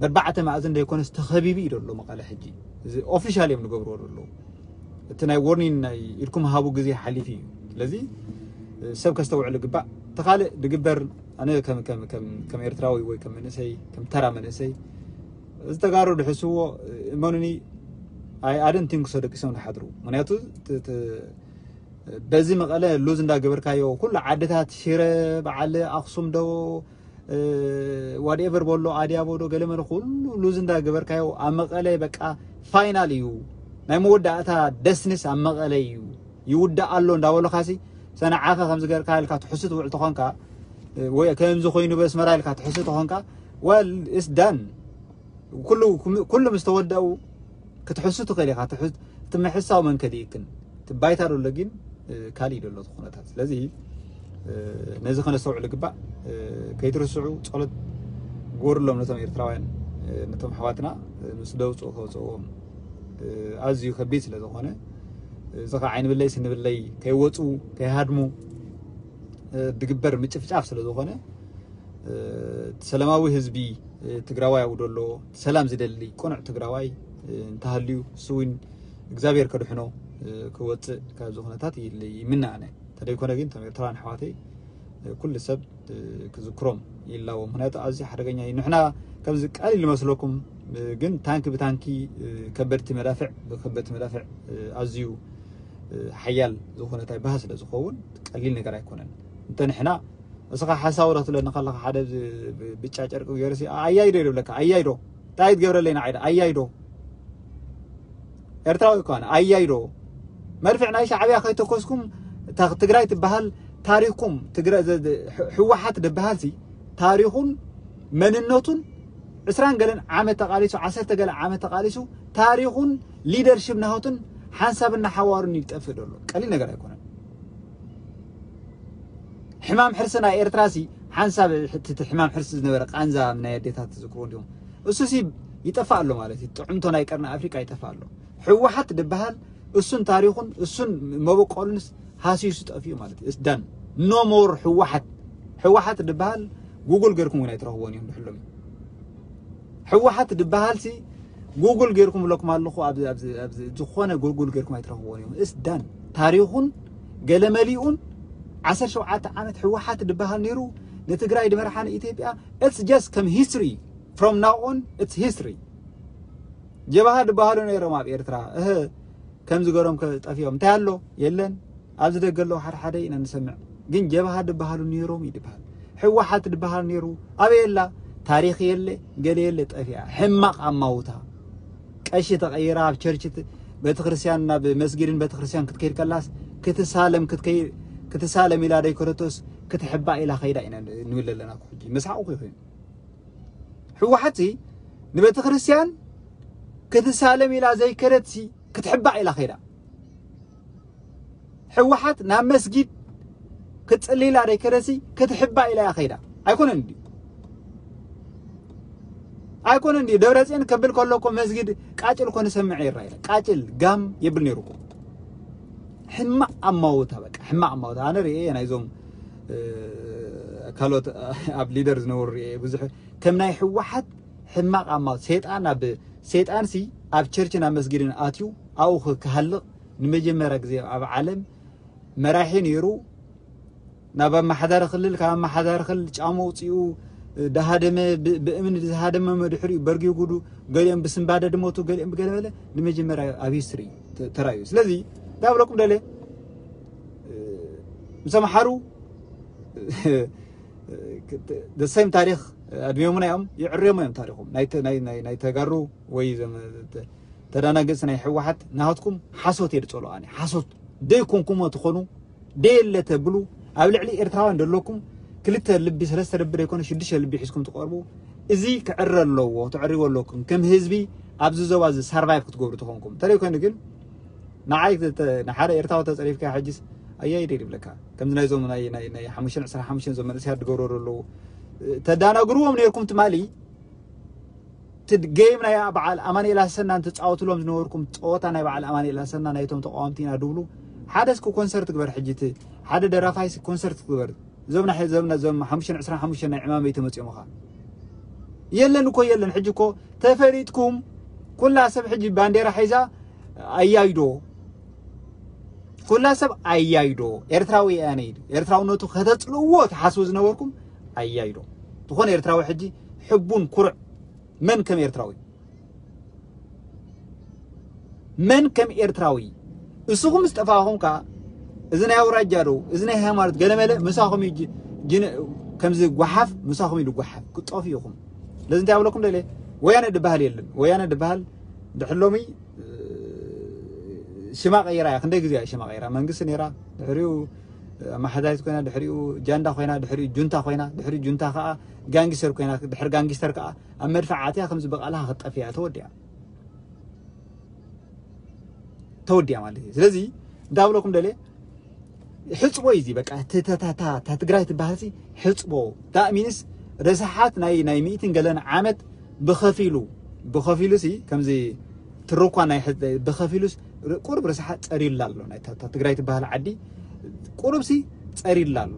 በርባዕተ ማእዝን ደይኮነስ ተኸቢቡ እዩ ደሎ መቐለ ሕጂ። እዚ ኦፊሻል እዮም ንገብርዎ ደለዉ። እቲ ናይ ዎርኒን ናይ ኢድኩም ሃቡ ግዜ ሓሊፉ እዩ። ስለዚ ሰብ ከስተውዕሉ ግባእ። እቲ ካልእ ድግበር ኣነ ከም ኤርትራዊ ወይ ከም መንእሰይ ከም ተራ መንእሰይ እዚ ተጋሩ ድሕስዎ እመኑኒ ኣይ ኣደን ቲንክ ሶ ደቂሶም ዝሓድሩ። ምክንያቱ በዚ መቐለ ሉዝ እንዳገበርካዮ ኩሉ ዓድታት ሽረ፣ በዓል ኣክሱም ዶ፣ ዋትኤቨር በሎ፣ ኣድያቦ ዶ፣ ገለመለ ኩሉ ሉዝ እንዳገበርካዮ ኣብ መቐለ በቃ ፋይናል እዩ፣ ናይ መወዳእታ ደስንስ ኣብ መቐለ እዩ፣ ይውዳእ ኣሎ እንዳበሉኻሲ፣ ሰንዓኸ ከምዚ ገርካ ኢልካ ትሕሱ ትውዕል ተኾንካ፣ ወይ ከምዚ ኮይኑ በስመራ ኢልካ ትሕሱ ተኾንካ፣ ወል ኢስ ዳን። ኩሉ ምስ ተወደኡ ክትሕሱ ትኽእል ኢኻ። እቲ ምሕሳው መንከ ድእክን እቲ ባይታ ደሎ ግን ካልእ ደሎ እቲ ኩነታት። ስለዚ ነዚ ከነስተውዕሉ ግባእ። ከይትርስዑ ጸሎት ግበሩሎም ነቶም ኤርትራውያን፣ ነቶም ኣሕዋትና ምስ ደውፅኡ ከውፅእዎም ኣዝዩ ከቢድ ስለ ዝኾነ፣ እዚ ከዓ ዓይኒ ብለይ ስኒ ብለይ ከይወፁ ከይሃድሙ ድግበር ምጭፍጫፍ ስለ ዝኾነ፣ ሰላማዊ ህዝቢ ትግራዋይ ኣብኡ ደሎ ሰላም ዝደሊ ቅኑዕ ትግራዋይ እንተሃልዩ፣ እሱ እውን እግዚኣብሔር ከድሕኖ ክወፅእ ካብዚ ኩነታት ይምነ ኣነ። እንተደይኮነ ግን እቶም ኤርትራውያን ኣሕዋተይ ኩሉ ሰብ ክዝክሮም ይላዎ። ምክንያቱ ኣዝዩ ሓደገኛ እዩ። ንሕና ከምዚ ቀሊል ይመስለኩም፣ ግን ታንኪ ብታንኪ፣ ከበድቲ መዳፍዕ ብከበድቲ መዳፍዕ ኣዝዩ ሓያል ዝኾነ እንታይ ባህ ስለ ዝኸውን ቀሊል ነገር ኣይኮነን። እንተ ንሕና እስኻ ሓሳዊ ዶ ክትብለኒ ከለኻ ሓደ ብ-፣ ብ-፣ ብጫ ጨርቂ ገይሩ ሲ፣ ኣያይዶ ይብለካ፣ ኣያይዶ። እንታይ ትገብረለይ ንዓይ ዶ? ኣያይዶ። ኤርትራዊ እኮ ኣነ፣ ኣያይዶ። መድፍዕ ናይ ሻዕብያ ከይተኮስኩም፣ እታ ትግራይ ትበሃል ታሪኽኩም፣ ትግረ-፣ ዘ-፣ ዘ-፣ ሕ-፣ ህወሓት ዝበሃል ሲ፣ ታሪኹን መንነቱን ዕስራን ገለን ዓመት ተቓሊሱ፣ ዓሰርተ ገለ ዓመት ተቓሊሱ፣ ታሪኹን ሊደርሽፕ ናሆትን ሓንሳብን ሓዋሩን ይጠፍእ ደሎ። ቀሊል ነገር ኣይኮነን። ሕማም ሕርሲ ናይ ኤርትራ ሲ ሓንሳብ እቲ፣ እቲ ሕማም ሕርሲ ዝነበረ ቃንዛ ናይ ኣዴታት ትዝክሩ እንዲኹም። እሱ ሲ ይጠፋ ኣሎ ማለት እዩ። ጥዕምቶ ናይ ቀርኒ ኣፍሪቃ ይጠፋ ኣሎ። ህወሓት ዝበሃል እሱን ታሪኹን እሱን መበቆሉንስ ሃሲሱ ጠፊኡ ማለት እዩ። እስ ዳን። ኖ ሞር ህወሓት። ህወሓት ዝበሃል ጉግል ገይርኩም እውን ኣይትረኽቦን እዮም ድሕሎም። ህወሓት ዝበሃል ሲ ጉግል ገይርኩም ብለኩም ኣለኹ። ኣብዚ፣ ኣብዚ፣ ኣብዚ ዝኾነ ጉግል ገይርኩም ኣይትረኽቦን እዮም። እስ ዳን። ታሪኹን ገለመሊኡን ዓሰርተ ሸውዓተ ዓመት ህወሓት ዝበሃል ነይሩ፣ ንትግራይ ድመርሓ ንኢትዮጵያ። It's just ከም ሂስትሪ። From now on, it's history። ጀብሃ ዝበሃሉ ነይሮም ኣብ ኤርትራ። እህ፣ ከምዚ ገሮም ከ ጠፊኦም። እንታይ ኣሎ? የለን። ኣብዚ ደገ ኣለዉ ሓደ ሓደ ኢና ንሰምዕ። ግን ጀብሃ ዝበሃሉ ነይሮም እዩ ዝበሃል። ህወሓት ዝበሃል ነይሩ። ኣበይ ኣላ? ታሪኽ የለ፣ ገለ የለ፣ ጠፊኣ። ሕማቕ ኣማውታ። ቀሺ ተቐይራ ኣብ ቸርች ት-፣ ቤተክርስትያን፣ ናብ መስጊድን ቤተክርስትያን ክትከይድ ከላስ ክትሳለም፣ ክትከይ-፣ ክትሳለም ኢላ ደይከደቶስ ክትሕባእ ኢላ ከይዳ ኢና ንብል ኣለና እኮ ሕጂ። መስሓቕ እኮ ይኾን። ህወሓት ሲ ንቤተክርስትያን ክትሳለም ኢላ ዘይከደት ሲ ክትሕባእ ኢላ ከይዳ። ህወሓት ናብ መስጊድ ክትጽሊ ኢላ ደይከደት ሲ ክትሕባእ ኢላ እያ ከይዳ። ኣይኮነን እንድዩ? ኣይኮነን እንድዩ? ደብረጽዮን ከብል ከሎ እኮ መስጊድ ቃጭል እኮ ንሰምዕ ይራ ኢለ። ቃጭል ጋም የብል ነይሩ እኮ። ሕማቕ ኣማውታ፣ በቃ ሕማቕ ኣማውታ። ኣነ ርእየ ናይዞም፣ እ፣ ካልኦት ኣብ ሊደር ዝነበሩ ርእየ ብዙሕ ከም ናይ ህወሓት ሕማቕ ኣማውታ። ሰይጣን ኣብ፣ ሰይጣን ሲ ኣብ ቸርችን ኣብ መስጊድን ኣትዩ ኣብኡ ክ-፣ ክሃልቕ ንመጀመርያ ግዜ ኣብ ዓለም መራሒ ነይሩ። ናብ ኣመሓዳሪ ክልል፣ ካብ ኣመሓዳሪ ክልል ጫማ ውፅኡ፣ ዳሃደመ፣ ብ-፣ ብእምኒ ዝሃደመ መድሕሪኡ በርጊጉ ዱ፣ ገሊኦም ብስንባደ ድሞቱ፣ ገሊኦም ብገለ በለ፣ ንመጀመርያ ኣብ ሂስትሪ ተ-፣ ተራእዩ። ስለዚ እንታይ ብለኩም ደለ፣ ምስ ኣምሓሩ the same ታሪኽ ኣድሚዮምና እዮም፣ ይዕርዮሞ እዮም ታሪኾም። ናይ ተ-፣ ናይ፣ ናይ፣ ናይ ተጋሩ ወይ ዘም-፣ ተ-፣ ተዳናገጽ ናይ ህወሓት ናሃትኩም ሓሶት እየ ድጸልኦ ኣነ። ሓሶት ደይኮንኩሞ ትኾኑ፣ ደየለ ተብሉ፣ ኣብ ልዕሊ ኤርትራውያን ደለኩም ክልተ ልቢ፣ ሰለስተ ልቢ ደይኮነ ሽዱሽተ ልቢ ሒዝኩም ትቐርቡ። እዚ ክዕረ ኣለዎ፣ ተዕርይዎ ኣለኩም። ከም ህዝቢ ኣብዚ ዞባ እዚ ሳርቫይቭ ክትገብሩ ተኾንኩም። እንተደይኮይኑ ግን ንዓይ ተ-፣ ንሓደ ኤርትራዊ ተጸሪፍካ ሕጅስ ኣያይደ ይብለካ። ከምዚ ናይዞም ናይ፣ ናይ፣ ናይ ሓሙሽተ ዕስራ ሓሙሽተ ዞም መንእሰያት ዝገብሩ ኣለዉ። ተዳናግርዎም ነይርኩም ትማሊ፣ እቲ ጌም ናይ በዓል ኣማኑኤል ኣሰናን ትጻወትሎም ዝነበርኩም ጸወታ ናይ በዓል ኣማኑኤል ኣሰና ናይቶም ተቃወምቲ ኢና ድብሉ፣ ሓደ እስኪ ኮንሰርት ግበር። ሕጂ እቲ ሓደ ደራፋይ እስኪ ኮንሰርት ግበር። እዞም ናይ፣ እዞም፣ እዞም ሓሙሽተ ዕስራ ሓሙሽተ ናይ ዕማመይ ተመጺኦም ኸኣ የለን እኮ የለን። ሕጂ እኮ ተፈሊጥኩም ኩላ ሰብ ሕጂ ባንዴራ ሒዛ ኣያይዶ። ኩላ ሰብ ኣያይዶ። ኤርትራዊ ኣነ ኢሉ። ኤርትራውነቱ ከተጽልእዎ ትሓስቡ ዝነበርኩም ኣያይዶ። ዝኾነ ኤርትራዊ ሕጂ ሕቡን ኩሩዕ መን ከም ኤርትራዊ? መን ከም ኤርትራዊ? እስኹም ምስ ጠፋእኹም ከኣ፣ እዚ ናይ ኣውራጃ ዶ፣ እዚ ናይ ሃይማኖት ገለመለ ምሳኹም እዩ ጅ-፣ ጅን-፣ ከምዚ ጓሓፍ ምሳኹም እዩ ዝጓሓፍ፣ ክጠፉ ኢኹም። ስለዚ እንታይ ኣብለኩም ደልየ? ወያነ ድበሃል የለን። ወያነ ድበሃል ድሕር ሎሚ፣ እ፣ ሽማ ቀይራ እያ። ክንደይ ግዜ እያ ሽማ ቀይራ? መንግስቲ ነይራ፣ ድሕሪኡ ኣመሓዳሪት ኮይና፣ ድሕሪኡ ጃንዳ ኮይና፣ ድሕሪኡ ጁንታ ኮይና፣ ድሕሪኡ ጁንታ ከኣ ጋንግስተር ኮይና፣ ድሕሪ ጋንግስተር ከኣ ኣብ መድፍዕ ኣትያ ከምዚ ብቓልሃ ክትጠፍእ እያ፣ ተወዲኣ። ተወዲኣ ማለት እዩ። ስለዚ እንታይ ኣብለኩም ደልየ? ሕጽቦ እዩ እዚ። በቃ እቲ፣ እታ፣ እታ፣ እታ፣ እታ ትግራይ ትበሃል ሲ ሕጽቦ። ዳት ሚንስ ረሳሓት ናይ፣ ናይ ሚእትን ገለን ዓመት ብኸፊሉ፣ ብኸፊሉ ሲ ከምዚ ትርኳ ናይ ሕጽ-፣ ብኸፊሉስ ር-፣ ቁሩብ ረሳሓት ጸሪላ ኣሎ። ናይ እታ፣ እታ ትግራይ ትበሃል ዓዲ ቁሩብ ሲ ጸሪላ ኣሎ።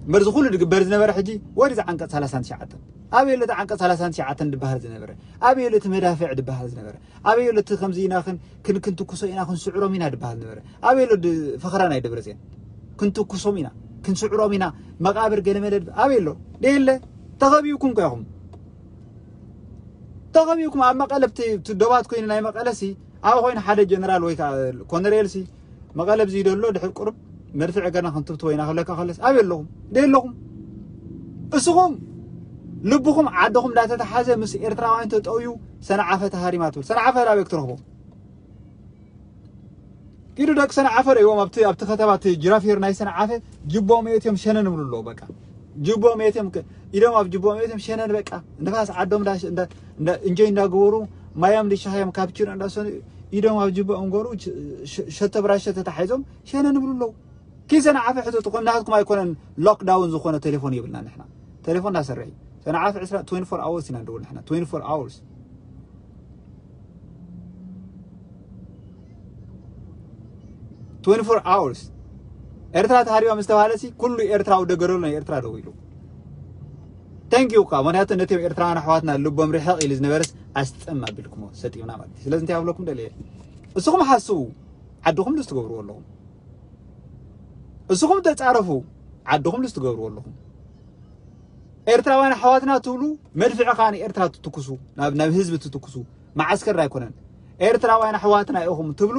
እምበር እዚ ኩሉ ድግበር ዝነበረ ሕጂ ወዲ ዝዓንቀጽ ሰላሳን ትሽዓተን። ኣበይ ኣሎ እቲ ዓንቀጽ ሰላሳን ትሽዓተን ድበሃል ዝነበረ? ኣበይ ኣሎ እቲ መዳፍዕ ድበሃል ዝነበረ? ኣበይ ኣሎ እቲ ከምዚ ኢና ክን-፣ ክን-፣ ክንትኩሶ ኢና፣ ክንስዕሮም ኢና ድበሃል ዝነበረ? ኣበይ ኣሎ ድ-፣ ፈኸራ ናይ ደብረጽዮን? ክንትኩሶም ኢና፣ ክንስዕሮም ኢና፣ መቓብር ገለመለ ድበ-፣ ኣበይ ኣሎ? ደየለ። ተኸቢብኩም እኮ ኢኹም። ተኸቢብኩም ኣብ መቐለ ብቲ-፣ ብቲ ዶባት ኮይኑ ናይ መቐለ ሲ፣ ኣብ ኮይኑ ሓደ ጀነራል ወይ ከዓ ኮነሬል ሲ፣ መቐለ ብዚ ደሎ ድሕር ቁሩብ መድፍዕ ገና ክንትብትቦ ኢና ክብለካ ከለስ፣ ኣበይ ኣለኹም? ደይ ኣለኹም? እስኹም ልብኹም ዓድኹም እንዳተተሓዘ ምስ ኤርትራውያን ተጠውዩ ሰንዓፈ ተሃሪማ ትብል። ሰንዓፈ ኣበይ ክትረኽቦ? ኪዱ ደቂ ሰንዓፈ ርእይዎም ኣብቲ፣ ኣብቲ ከተማ እቲ ጅራፊር ናይ ሰንዓፈ ጅቦም የእትዮም ሸነን ይብሉ ኣለዉ። በቃ ጅቦም የእትዮም ከ-፣ ኢዶም ኣብ ጅቦም የእትዮም ሸነን በቃ ንፋስ ዓዶም እንዳ፣ እንዳ፣ እንዳ እንጆይ እንዳገበሩ ማዮም ድሻሃዮም ካፕቺኖ እንዳሰኑ ኢዶም ኣብ ጅቦም ገሩ ሸ-፣ ሸ-፣ ሸተ ብራሸ ተታሒዞም ሸነን ይብሉ ኣለዉ። ኪድ ሰንዓፈ ሕተቱ፣ ከም ናትኩም ኣይኮነን ሎክዳውን ዝኾነ ቴሌፎን የብልና ንሕና። ቴሌፎን እናሰርሕ እዩ። ሰንዓፈ ዕስራ፣ twenty-four hours ኢና ንድውል ንሕና። Twenty-four hours። Twenty-four hours። ኤርትራ ተሃሪባ ምስ ተባሃለ ሲ፣ ኩሉ ኤርትራዊ ደገረሉ ናይ ኤርትራ ደው ኢሉ። Thank you እኳ፣ ምኽንያቱ ነቶም ኤርትራውያን ኣሕዋትና ልቦም ርሕቕ ኢሉ ዝነበረስ ኣስጥም ኣቢልኩሞ፣ ሰጢምና ማለት እዩ። ስለዚ እንታይ ኣብለኩም ደልየ? እስኹም ሓስቡ፣ ዓድኹም ደስ ትገብርዎ ኣለኹም። እስኹም ተጻረፉ፣ ዓድኹም ደስ ትገብርዎ ኣለኹም። ኤርትራውያን ኣሕዋትና ትብሉ፣ መድፍዕ ከኣ ንኤርትራ ትትኩሱ፣ ናብ፣ ናብ ህዝቢ ትትኩሱ፣ መዓስከር ኣይኮነን። ኤርትራውያን ኣሕዋትና ኢኹም ትብሉ፣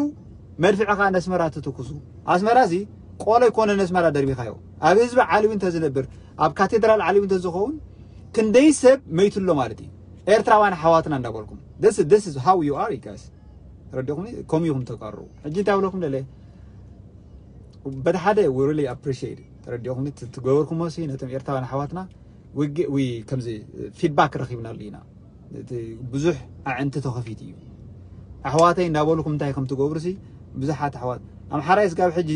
መድፍዕ ከኣ ነስመራ ትትኩሱ። ኣስመራ እዚ ቆሎ ኣይኮነን ነስመራ ደርቢኻዮ። ኣብ ህዝቢ ዓልዊ እንተዝነብር፣ ኣብ ካቴድራል ዓልዊ እንተዝኸውን፣ ክንደይ ሰብ መይቱ ኣሎ ማለት እዩ። ኤርትራውያን ኣሕዋትና እንዳበልኩም። This, this is how you are, you guys። ተረዲኹም? ከምኡ ኢኹም ተቃርቡ። ሕጂ እንታይ ኣብለኩም ደለ? በቲ ሓደ we really appreciate it። ተረዲኹም? እቲ ትገበርኩሞ ሲ ነቶም ኤርትራውያን ኣሕዋትና ውግእ፣ ዊ-፣ ከምዚ ፊድባክ ረኺብናሉ ኢና። እቲ ብዙሕ ኣዕንቲ ተኸፊቱ እዩ። ኣሕዋተይ እንዳበልኩም እንታይ ከም ትገብሩ ሲ ብዙሓት ኣሕዋት ኣምሓራይ ስጋብ ሕጂ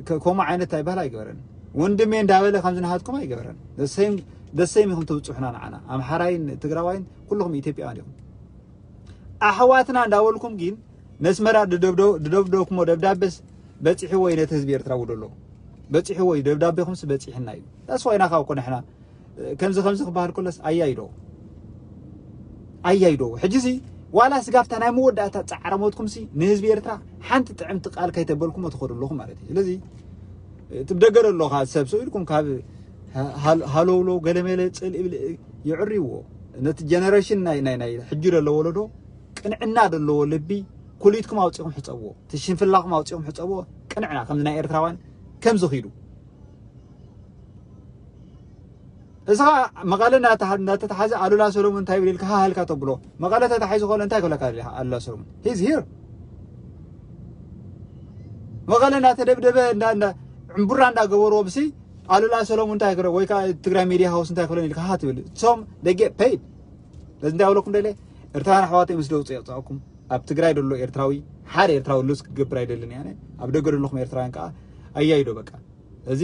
ከ-፣ ከምኡ ዓይነት እንታይ ባህል ኣይገበረን። ወንድሜ እንዳበለ ከም ዝናሃትኩም ኣይገበረን። The same፣ the same ኢኹም ተብጽሑና ንዓና። ኣምሓራይን ትግራዋይን ኩልኹም ኢትዮጵያውያን ኢኹም። ኣሕዋትና እንዳበልኩም ግን ነስመራ ድደብደ-፣ ድደብደብኩሞ ደብዳቤስ በጺሕዎ እዩ ነቲ ህዝቢ ኤርትራ ውዶ ኣሎ። በጺሕዎ እዩ ደብዳቤኹምስ በጺሕና እዩ። ዳስ ዋይና ካብ እኮ ንሕና ከምዚ ከምዚ ክበሃል ከሎስ ኣያይዶ። ኣያይዶ። ሕጂሲ ዋላ ስጋብታ ናይ መወዳእታ ጻዕረ ሞትኩምሲ ንህዝቢ ኤርትራ ሓንቲ ጥዕምቲ ቃል ከይተበልኩሞ ትኸዱ ኣለኹም ማለት እዩ። ስለዚ እቲ ብደገ ዘሎ ካብ ሰብ ስኢልኩም ካብ ሃ-፣ ሃል-፣ ሃለውለው ገለመለ ጽልኢ ብልኢ ይዕርይዎ። ነቲ ጀነሬሽን ናይ፣ ናይ፣ ናይ ሕጂ ዘሎ ወለዶ ቅንዕና ዘለዎ ልቢ ኩሊትኩም ኣውጺኹም ሕጸብዎ። እቲ ሽንፍላኹም ኣውጺኹም ሕጸብዎ። ቅንዕና ከምዚ ናይ ኤርትራውያን ከምዚ ኺዱ። እዚ ኸኣ መቐለ እናተሓ-፣ እናተተሓዘ ኣሉላ ሰሎሙን እንታይ ይብል ኢልካ ሃሃልካ ተብሎ። መቐለ ተታሒዙ ከሎ እንታይ ክብለካ ደሊኻ ኣሉላ ሰሎሙን? He's here። መቐለ እናተደብደበ እንዳ፣ እንዳ ዕምቡራ እንዳገበርዎ ብሲ ኣሉላ ሰሎሙን እንታይ ክረ-፣ ወይ ከዓ ትግራይ ሚድያ ሃውስ እንታይ ክብለን ኢልካ ሃ ትብል። እሶም they get paid። ስለዚ እንታይ ኣብለኩም ደለ? ኤርትራውያን ኣሕዋተይ ምስ ደውፅ የውፃእኩም። ኣብ ትግራይ ደሎ ኤርትራዊ፣ ሓደ ኤርትራዊ ሉዝ ክገብር ኣይደልን እየ ኣነ። ኣብ ደገ ደለኹም ኤርትራውያን ከዓ ኣያይዶ በቃ። እዚ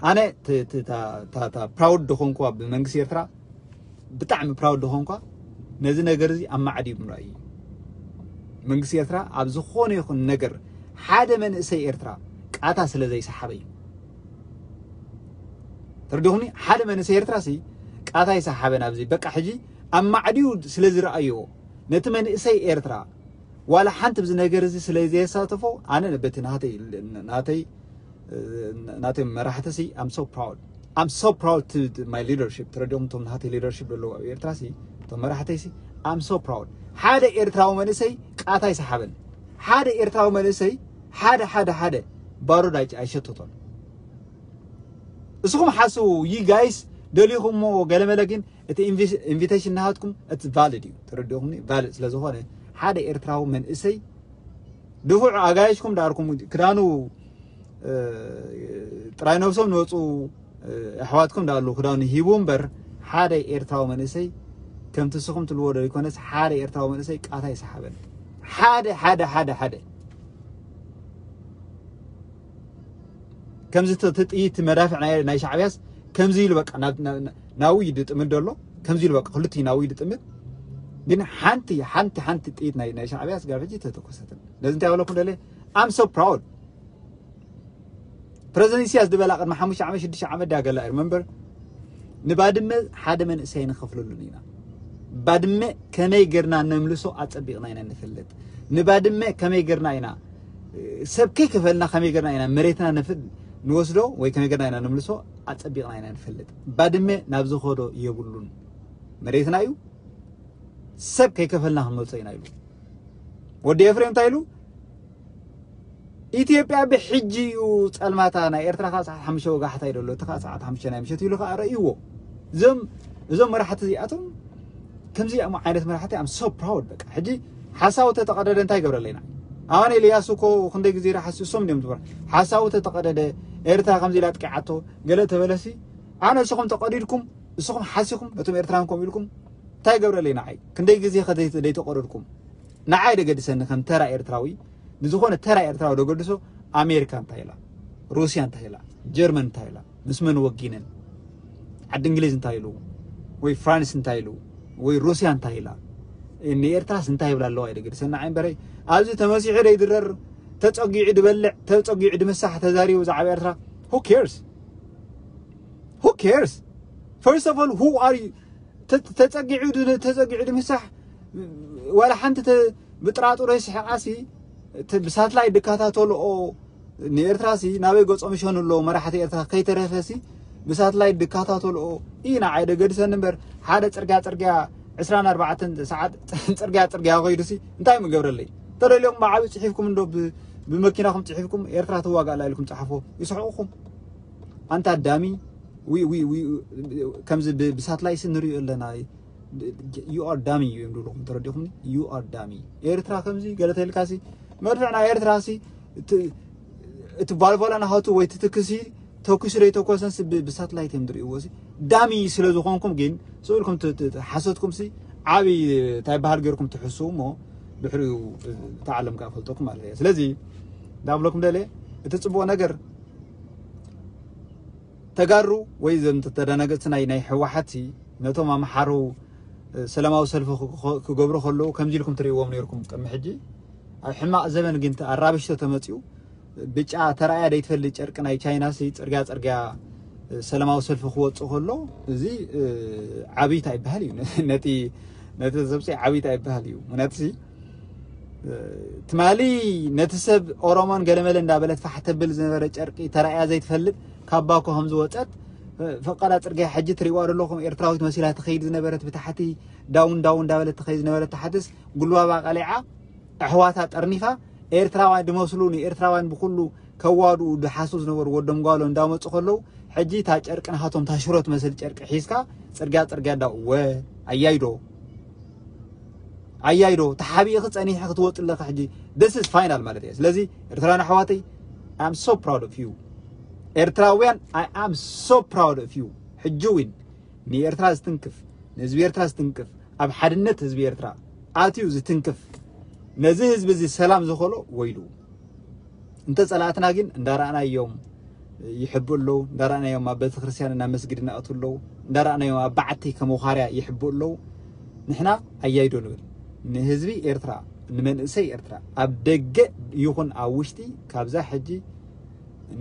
ኣነ ት-፣ ት-፣ እታ፣ እታ፣ እታ ፕራውድ ደኾንኩዋ ብመንግስቲ ኤርትራ፣ ብጣዕሚ ፕራውድ ደኾንኳ ነዚ ነገር እዚ ኣብ ማዕድ እዩ ምርኣይ እዩ። መንግስቲ ኤርትራ ኣብ ዝኾነ ይኹን ነገር ሓደ መንእሰይ ኤርትራ ቃታ ስለ ዘይሰሓበ እዩ። ተረዲኹምኒ? ሓደ መንእሰይ ኤርትራ ሲ ቃታ ይሰሓበ ናብዚ በቃ ሕጂ ኣብ ማዕድዩ ስለ ዝረኣዮ ነቲ መንእሰይ ኤርትራ ዋላ ሓንቲ ብዚ ነገር እዚ ስለ ዘየሳተፎ ኣነ በቲ ናተይ፣ ናተይ ናተይ መራሕቲ ሲ I'm so proud. I'm so proud to my leadership. ተረዲኦም እቶም ናተይ ሊደርሽፕ ዘለዉ ኣብ ኤርትራ ሲ እቶም መራሕተይ ሲ I'm so proud. ሓደ ኤርትራዊ መንእሰይ ቃታ ኣይሰሓበን። ሓደ ኤርትራዊ መንእሰይ ሓደ ሓደ ሓደ ባሩድ ኣይ- ኣይሸተቶን። እስኹም ሓስቡ። ዩ ጋይስ ደሊኹሞ ገለመለ፣ ግን እቲ ኢንቪቴሽን ናሃትኩም እቲ ቫሊድ እዩ። ተረዲኹምኒ? ቫሊድ ስለ ዝኾነ ሓደ ኤርትራዊ መንእሰይ ድፉዕ ኣጋይሽኩም ዳርኩም ክዳኑ ጥራይ ነብሶም ንወፁ ኣሕዋትኩም ዳሉ ክዳኑ ሂቡ እምበር ሓደ ኤርትራዊ መንእሰይ ከምቲ ስኹም ትልዎ ዶ ይኮነስ ሓደ ኤርትራዊ መንእሰይ ቃታ ይሰሓበን። ሓደ ሓደ ሓደ ሓደ ከምዚ እቲ ጥይት መዳፍዕ ናይ ሻዕብያስ ከምዚ ኢሉ በቃ ናዊ ይድጥምድ ዘሎ። ከምዚ ኢሉ በቃ ክልቲ ናዊ ይድጥምድ። ግን ሓንቲ ሓንቲ ሓንቲ ጥይት ናይ ሻዕብያስ ጋብ ሕጂ ተተኮሰትን። ነዚ እንታይ በለኩም ደለ I'm so proud። ፕረዚደንት ኢሳያስ ዝበላ ቅድሚ ሓሙሽተ ዓመት ሽዱሽተ ዓመት ዳገላ remember ንባድመ ሓደ መንእሰይ ንኸፍለሉን ኢና። ባድመ ከመይ ጌርና ነምልሶ ኣጸቢቕና ኢና ንፈልጥ። ንባድመ ከመይ ጌርና ኢና ሰብ ከይከፈልና ከመይ ጌርና ኢና መሬትና ንወስዶ ወይ ከመይ ጌርና ኢና ነምልሶ ኣጸቢቕና ኢና ንፈልጥ። ባድመ ናብ ዝኸዶ የብሉን። መሬትና እዩ። ሰብ ከይከፈልና ክንመልሶ ኢና ኢሉ። ወዲ ኤፍሬም እንታይ ኢሉ? ኢትዮጵያ ብሕጂ እዩ ጸልማታ፣ ናይ ኤርትራ ከዓ ሰዓት ሓሙሽተ ወጋሕታ እዩ ዘሎ፣ እቲ ከዓ ሰዓት ሓሙሽተ ናይ ምሸት ኢሉ ከዓ ረእይዎ። እዞም እዞም መራሕቲ እዚኣቶም ከምዚ ዓይነት መራሕቲ I'm so proud። በቃ ሕጂ ሓሳቡ ተተቐደደ እንታይ ይገብረለይና? ኣነ ኢልያስ እኮ ክንደይ ግዜ ሓሲ እሶም እንዲዮም ዝበሩ ሓሳቡ ተተቐደደ ኤርትራ ከምዚ ኢላ ጥቂዓቶ ገለ ተበለሲ ኣነ እስኹም ተቐዲድኩም እስኹም ሓሲኹም ነቶም ኤርትራን ከምኡ ኢልኩም እንታይ ይገብረለይ ንዓይ ክንደይ ግዜ ከደይተቐደድኩም ንዓይ ደገድሰኒ ከም ተራ ኤርትራዊ ንዝኾነ ተራ ኤርትራዊ ደገድሶ ኣሜሪካ እንታይ ኢላ ሩስያ እንታይ ኢላ ጀርመን እንታይ ኢላ ምስ መን ወጊነን ዓዲ እንግሊዝ እንታይ ኢሉ ወይ ፍራንስ እንታይ ኢሉ ወይ ሩስያ እንታይ ኢላ ንኤርትራስ እንታይ ይብላ ኣለዋ ይደገድሰኒ ንዓይ እምበረይ ኣብዚ ተመሲሑ ደይድረር ተጸጊዑ ድበልዕ ተጸጊዑ ድምሳሕ ተዛሪቡ ዛዕባ ኤርትራ who cares who cares first of all who are you ተጸጊዑ ተጸጊዑ ድምሳሕ ዋላ ሓንቲ ብጥራጥሮ ይስሕቃሲ ብሳትላይት ድከታተልኦ ንኤርትራሲ ናበይ ገጾም ይሸኑ ኣለዉ መራሕቲ ኤርትራ ከይተረፈሲ ብሳትላይት ድከታተልኦ እዩ ንዓይ ደገድሰኒ እምበር ሓደ ጽርግያ ጽርግያ ዕስራን ኣርባዕተን ሰዓት ጽርግያ ጽርግያ ከይዱሲ እንታይ ምገብረለይ ተደልዮም ብዓቢ ጽሒፍኩም እንዶ ብመኪናኹም ጽሒፍኩም ኤርትራ ትዋጋእ ኣላ ኢልኩም ጸሓፎ ይስሕቁኹም ኣንታ ኣዳሚ ከምዚ ብሳትላይት ንሪኦ ኣለና you are dummy እዩ እዮም ዝብልኹም ተረዲኹምኒ you are dummy ኤርትራ ከምዚ ገለ ተልካሲ መድፍዕ ናይ ኤርትራሲ እቲ ቫልቮላ ናሃቱ ወይ ትትክሲ ተኩሱ ደይተኮሰንሲ ብሳትላይት እዮም ዝርእይዎ ሲ ዳሚ ስለ ዝኾንኩም ግን ስእልኩም ሓሰትኩም ሲ ዓብይ እንታይ በሃል ገይርኩም ትሕስቡ እሞ ድሕሪኡ እታ ዓለም ከዓ ፈልጠኩም ማለት እያ ስለዚ እንዳብለኩም ደለ እቲ ፅቡቅ ነገር ተጋሩ ወይ ዘም ተደናገፅቲ ናይ ናይ ህወሓት ነቶም ኣምሓሩ ሰላማዊ ሰልፊ ክገብሩ ከለዉ ከምዚ ኢልኩም ትርእይዎም ነርኩም ቅድሚ ሕጂ ኣብ ሕማቕ ዘበን ግን ኣራብሽቶ ተመፅኡ ብጫ ተራእያ ደይትፈልጥ ጨርቂ ናይ ቻይና ሲ ፅርግያ ፅርግያ ሰላማዊ ሰልፊ ክወፅእ ከሎ እዚ ዓብይታ ይበሃል እዩ ነቲ ነቲ ሰብፂ ዓብይታ ይበሃል እዩ ምክንያቱ ትማሊ ነቲ ሰብ ኦሮሞን ገለመለ እንዳበለት ፋሕ ተብል ዝነበረ ጨርቂ ተራእያ ዘይትፈልጥ ካብ ባኮ ከም ዝወፀት ፈቃዳ ፅርግያ ሕጂ ትሪእዋ ዘለኹም ኤርትራዊት መሲላ ትኸይድ ዝነበረት ብታሕቲ ዳውን ዳውን እንዳበለት ትኸይድ ዝነበረት ታሕትስ ጉልባባ ቀሊዓ ኣሕዋታ ጠርኒፋ ኤርትራውያን ድመስሉ ንኤርትራውያን ብኩሉ ከዋድኡ ድሓስቡ ዝነበሩ ወዶም ጓሎ እንዳመፁ ከለዉ ሕጂ እታ ጨርቂ ናሃቶም እታ ሽሮ ትመስል ጨርቂ ሒዝካ ፅርግያ ፅርግያ እንዳ እወ ኣያይዶ ኣያይዶ ተሓቢእኺ ፀኒሕኺ ክትወፂ ኣለኺ ሕጂ this is final ማለት እየ ስለዚ ኤርትራውያን ኣሕዋተይ I am so proud of you ኤርትራውያን I am so proud of you ሕጂ እውን ንኤርትራ ዝትንክፍ ንህዝቢ ኤርትራ ዝትንክፍ ኣብ ሓድነት ህዝቢ ኤርትራ ኣትዩ ዝትንክፍ ነዚ ህዝቢ እዚ ሰላም ዝኸሎ ወይሉ እንተ ጸላእትና ግን እንዳረኣናዮም ይሕቡ ኣለዉ እንዳረኣናዮም ኣብ ቤተክርስትያን እና መስጊድ እናእቱ ኣለዉ እንዳረኣናዮም ኣብ በዓቲ ከም ወኻርያ ይሕቡ ኣለዉ ንሕና ኣያይዶ ንብል ንህዝቢ ኤርትራ ንመንእሰይ ኤርትራ ኣብ ደገ ይኹን ኣብ ውሽጢ ካብዛ ሕጂ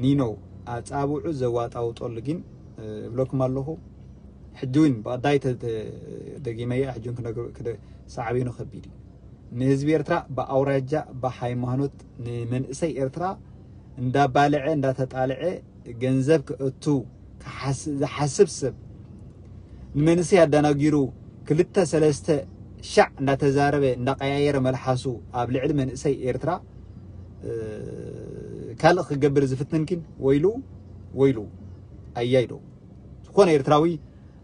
ኒኖ ኣጻብዑ ዘዋጣውጠሉ ግን እብለኩም ኣለኹ ሕጂ እውን ብቐዳይ ደጊመያ ሕጂ እውን ክነግር ሳዕቤኑ ከቢድ እዩ ንህዝቢ ኤርትራ ብኣውራጃ ብሃይማኖት ንመንእሰይ ኤርትራ እንዳባልዐ እንዳተጣልዐ ገንዘብ ክእቱ ዝሓስብ ሰብ ንመንእሰይ ኣዳናጊሩ ክልተ ሰለስተ ሻዕ እንዳተዛረበ እንዳቀያየረ መልሓሱ ኣብ ልዕሊ መንእሰይ ኤርትራ ካልእ ክገብር ዝፍትን ግን ወይሉ ወይሉ ኣያይዶ ዝኾነ ኤርትራዊ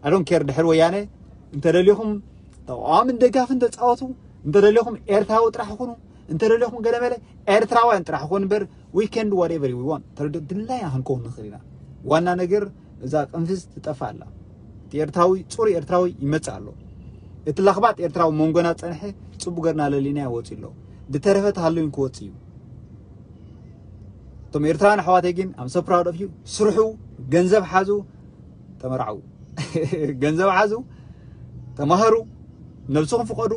ኣዶን ኬር ድሕር ወያነ እንተደሊኹም ተቃዋምን ደጋፍን ተፃወቱ እንተደሊኹም ኤርትራዊ ጥራሕ ይኹኑ እንተደሊኹም ገለመለ ኤርትራውያን ጥራሕ ይኹን እምበር we can do whatever we want ተረዶ ድላይና ክንከውን ንኽእል ኢና ዋና ነገር እዛ ቅንፍዝ ትጠፋ ኣላ እቲ ኤርትራዊ ፅሩ ኤርትራዊ ይመፅእ ኣሎ እቲ ለኽባጥ ኤርትራዊ መንጎና ፀንሐ ፅቡ ገርና ለሊና ይወፅእ ኣሎ ዝተረፈ ተሃለዊን ክወፅእ እዩ እቶም ኤርትራውያን ኣሕዋተይ ግን I'm so proud of you ስርሑ ገንዘብ ሓዙ ተመርዓው ገንዘብ ሓዙ ተማሃሩ ነብስኹም ፍቀዱ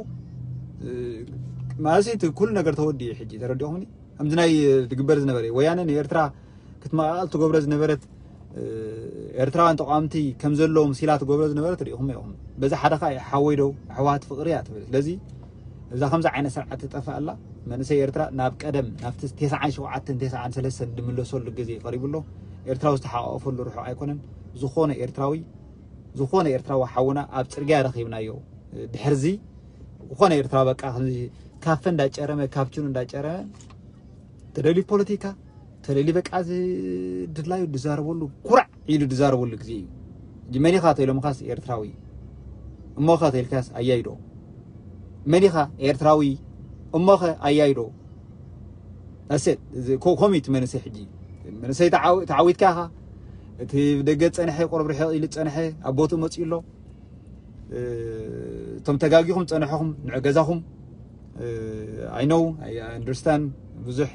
ማለት እቲ ኩሉ ነገር ተወዲ እዩ ሕጂ ተረዲኹምኒ ከምዚ ናይ ዝግበር ዝነበረ ወያነ ንኤርትራ ክትመቃቀል ትገብሮ ዝነበረት ኤርትራውያን ተቃወምቲ ከም ዘለዎም ሲላ ትገብሮ ዝነበረት ሪኢኹም ኢኹም በዚ ሓደ ከዓ ሓወይ ደው ኣሕዋት ፍቅሪ እያ ትብል ስለዚ እዛ ከምዚ ዓይነት ስርዓት ትጠፍእ ኣላ መንእሰይ ኤርትራ ናብ ቀደም ናብቲ ተስዓን ሸውዓተን ተስዓን ሰለስተን ድምለሰሉ ግዜ ቀሪቡ ኣሎ ኤርትራዊ ዝተሓቋቆፈሉ ርሑቕ ኣይኮነን ዝኾነ ኤርትራዊ ዝኾነ ኤርትራዊ ሓውና ኣብ ፅርግያ ረኺብናዮ ድሕርዚ ዝኾነ ኤርትራ በቃ ካፈ እንዳጨረመ ካፕቹን እንዳጨረመ ተደልዩ ፖለቲካ ተደልዩ በቃ ድላዩ ዝዛረበሉ ኩራዕ ኢሉ ዝዛረበሉ ግዜ እዩ መን ኢኻ ተኢሎምኻስ ኤርትራዊ እሞኸ ተኢልካስ ኣያይዶ መን ኢኻ ኤርትራዊ እሞኸ ኣያይዶ ኣሰት ከምኡ እቲ መንእሰይ ሕጂ መንእሰይ ተዓዊትካ ኢኻ እቲ ደገ ፀንሐ ቁርብ ርሕቕ ኢሉ ፀንሐ ኣብ ቦትኡ መፅኡ ኣሎ እቶም ተጋጊኹም ፀንሐኹም ንዕ ገዛኹም I know I understand ብዙሕ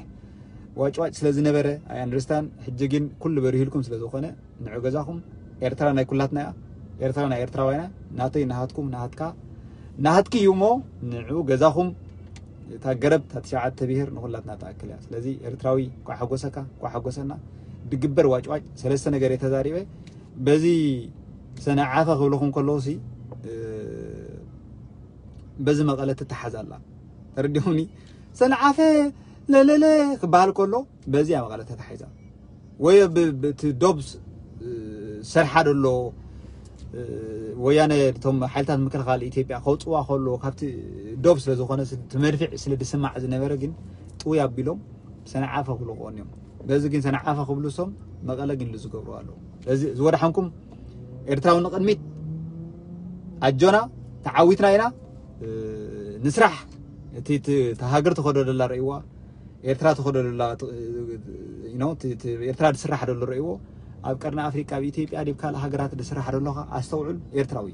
ዋጭዋጭ ስለ ዝነበረ I understand ሕጂ ግን ኩሉ በሪህልኩም ስለ ዝኾነ ንዕ ገዛኹም ኤርትራ ናይ ኩላትና እያ ኤርትራ ናይ ኤርትራውያና ናተይ ናሃትኩም ናሃትካ ናሃትኪ እዩ እሞ ንዑ ገዛኹም እታ ገረብ እታ ትሽዓተ ብሄር ንኹላትና ትኣክል እያ ስለዚ ኤርትራዊ ኳ ሓጎሰካ ኳ ሓጎሰና ድግበር ዋጭዋጭ ሰለስተ ነገር የተዛሪበ በዚ ሰነዓፈ ክብልኹም ከለዉ ሲ በዚ መቐለ ትተሓዝ ኣላ ተረዲኹምኒ ሰነዓፈ ለለለ ክበሃል ከሎ በዚያ መቐለ ተታሒዛ ወይ እቲ ዶብ ሰርሓ ደሎ ወያነ እቶም ሓይልታት ምክልኻል ኢትዮጵያ ከውፅዋ ከሎ ካብቲ ዶብ ስለ ዝኾነ እቲ መድፍዕ ስለ ዝስማዕ ዝነበረ ግን ጥውይ ኣቢሎም ሰነዓፈ ክብሉ ክኾኑ እዮም በዚ ግን ሰነዓፈ ክብሉ ሶም መቐለ ግን ዝገብሩ ኣለዉ ስለዚ ዝወድሓንኩም ኤርትራዊ ንቕድሚት ኣጆና ተዓዊትና ኢና ንስራሕ እቲ ሃገር ተኸዶ ደላ ረእይዋ ኤርትራ ተኸዶ ደላ ኤርትራ ዝስራሕ ደሎ ረእይዎ ኣብ ቀርኒ ኣፍሪቃ ኣብ ኢትዮጵያ ዲብ ካልእ ሃገራት ዝስራሕ ደሎኻ ኣስተውዕል ኤርትራዊ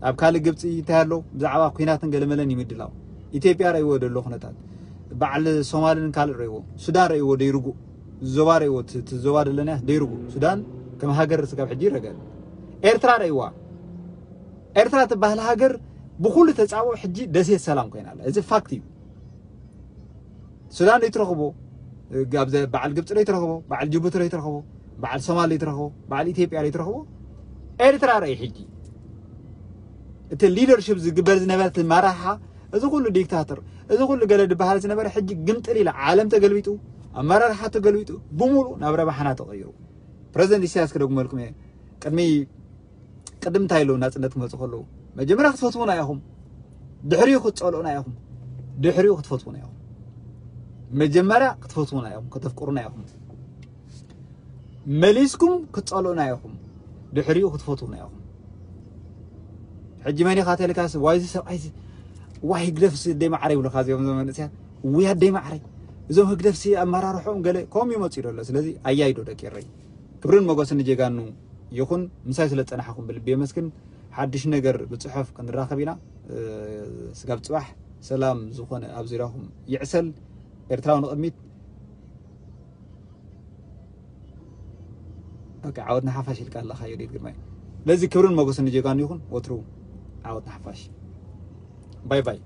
ኣብ ካልእ ግብፂ እንታይ ኣሎ ብዛዕባ ኩናትን ገለመለን ይምድላው ኢትዮጵያ ረእይዎ ደሎ ኩነታት በዓል ሶማልን ካልእ ረእይዎ ሱዳን ረእይዎ ደይርጉእ ዞባ ረእይዎ ዞባ ደለና ደይርጉእ ሱዳን ከም ሃገር ስጋብ ሕጂ ይረገ ኤርትራ ረእይዋ ኤርትራ ትበሃል ሃገር ብኩሉ ተፃብኦ ሕጂ ደሴት ሰላም ኮይና ኣላ እዚ ፋክት እዩ ሱዳን ይትረኽቦ በዓል ግብፂ ይትረኽቦ በዓል ጅቡቲ ይትረኽቦ በዓል ሶማል ይትረኽቦ በዓል ኢትዮጵያ ይትረኽቦ ኤርትራ ረእይ ሕጂ እቲ ሊደርሽፕ ዝግበር ዝነበረ መራሓ እዚ ኩሉ ዲክታተር እዚ ኩሉ ገለ ዝበሃል ዝነበረ ሕጂ ግምጥል ኢለ ዓለም ተገልቢጡ ኣመራርሓ ተገልቢጡ ብሙሉ ናብ ረባሓና ተቐይሩ ፕረዚደንት ኢሳያስ ክደግመልኩም እየ ቅድሚ ቅድም እንታይ ኢሉ ናፅነት ክመፁ ከለዉ መጀመርያ ክትፈትዉና ኢኹም ድሕሪኡ ክትፀልኡና ኢኹም ድሕሪኡ ክትፈትዉና ኢኹም መጀመርያ ክትፈትዉና ኢኹም ከተፍቅሩና ኢኹም መሊስኩም ክትፀልኡና ኢኹም ድሕሪኡ ክትፈትዉና ኢኹም ሕጂ መን ኢኻ ተልካስ ዋይዚ ሰብኣይ ዋይ ህግደፍሲ ደይ ማዕረ ይብሉካ እዚኦም መንእስያት ውያ ደይ ማዕረ እዞም ህግደፍሲ ኣመራርሖም ገለ ከምኡ ይመፅኡ ደሎ ስለዚ ኣያይዶ ደቂ ረይ ክብርን መጎስን ንጀጋኑ ይኹን ምሳይ ስለ ዝፀናሕኹም ብልቢ የመስግን ሓድሽ ነገር ብፅሑፍ ክንራኸብ ኢና ስጋብ ፅባሕ ሰላም ዝኾነ ኣብ ዙሪያኹም ይዕሰል ኤርትራዊ ንቕድሚት ዓወት ንሓፋሽ ኢልካ ኣለኻ ዮዲት ግርማይ ስለዚ ክብርን መጎስን ንጀጋኑ ይኹን ወትሩ ዓወት ንሓፋሽ ባይ ባይ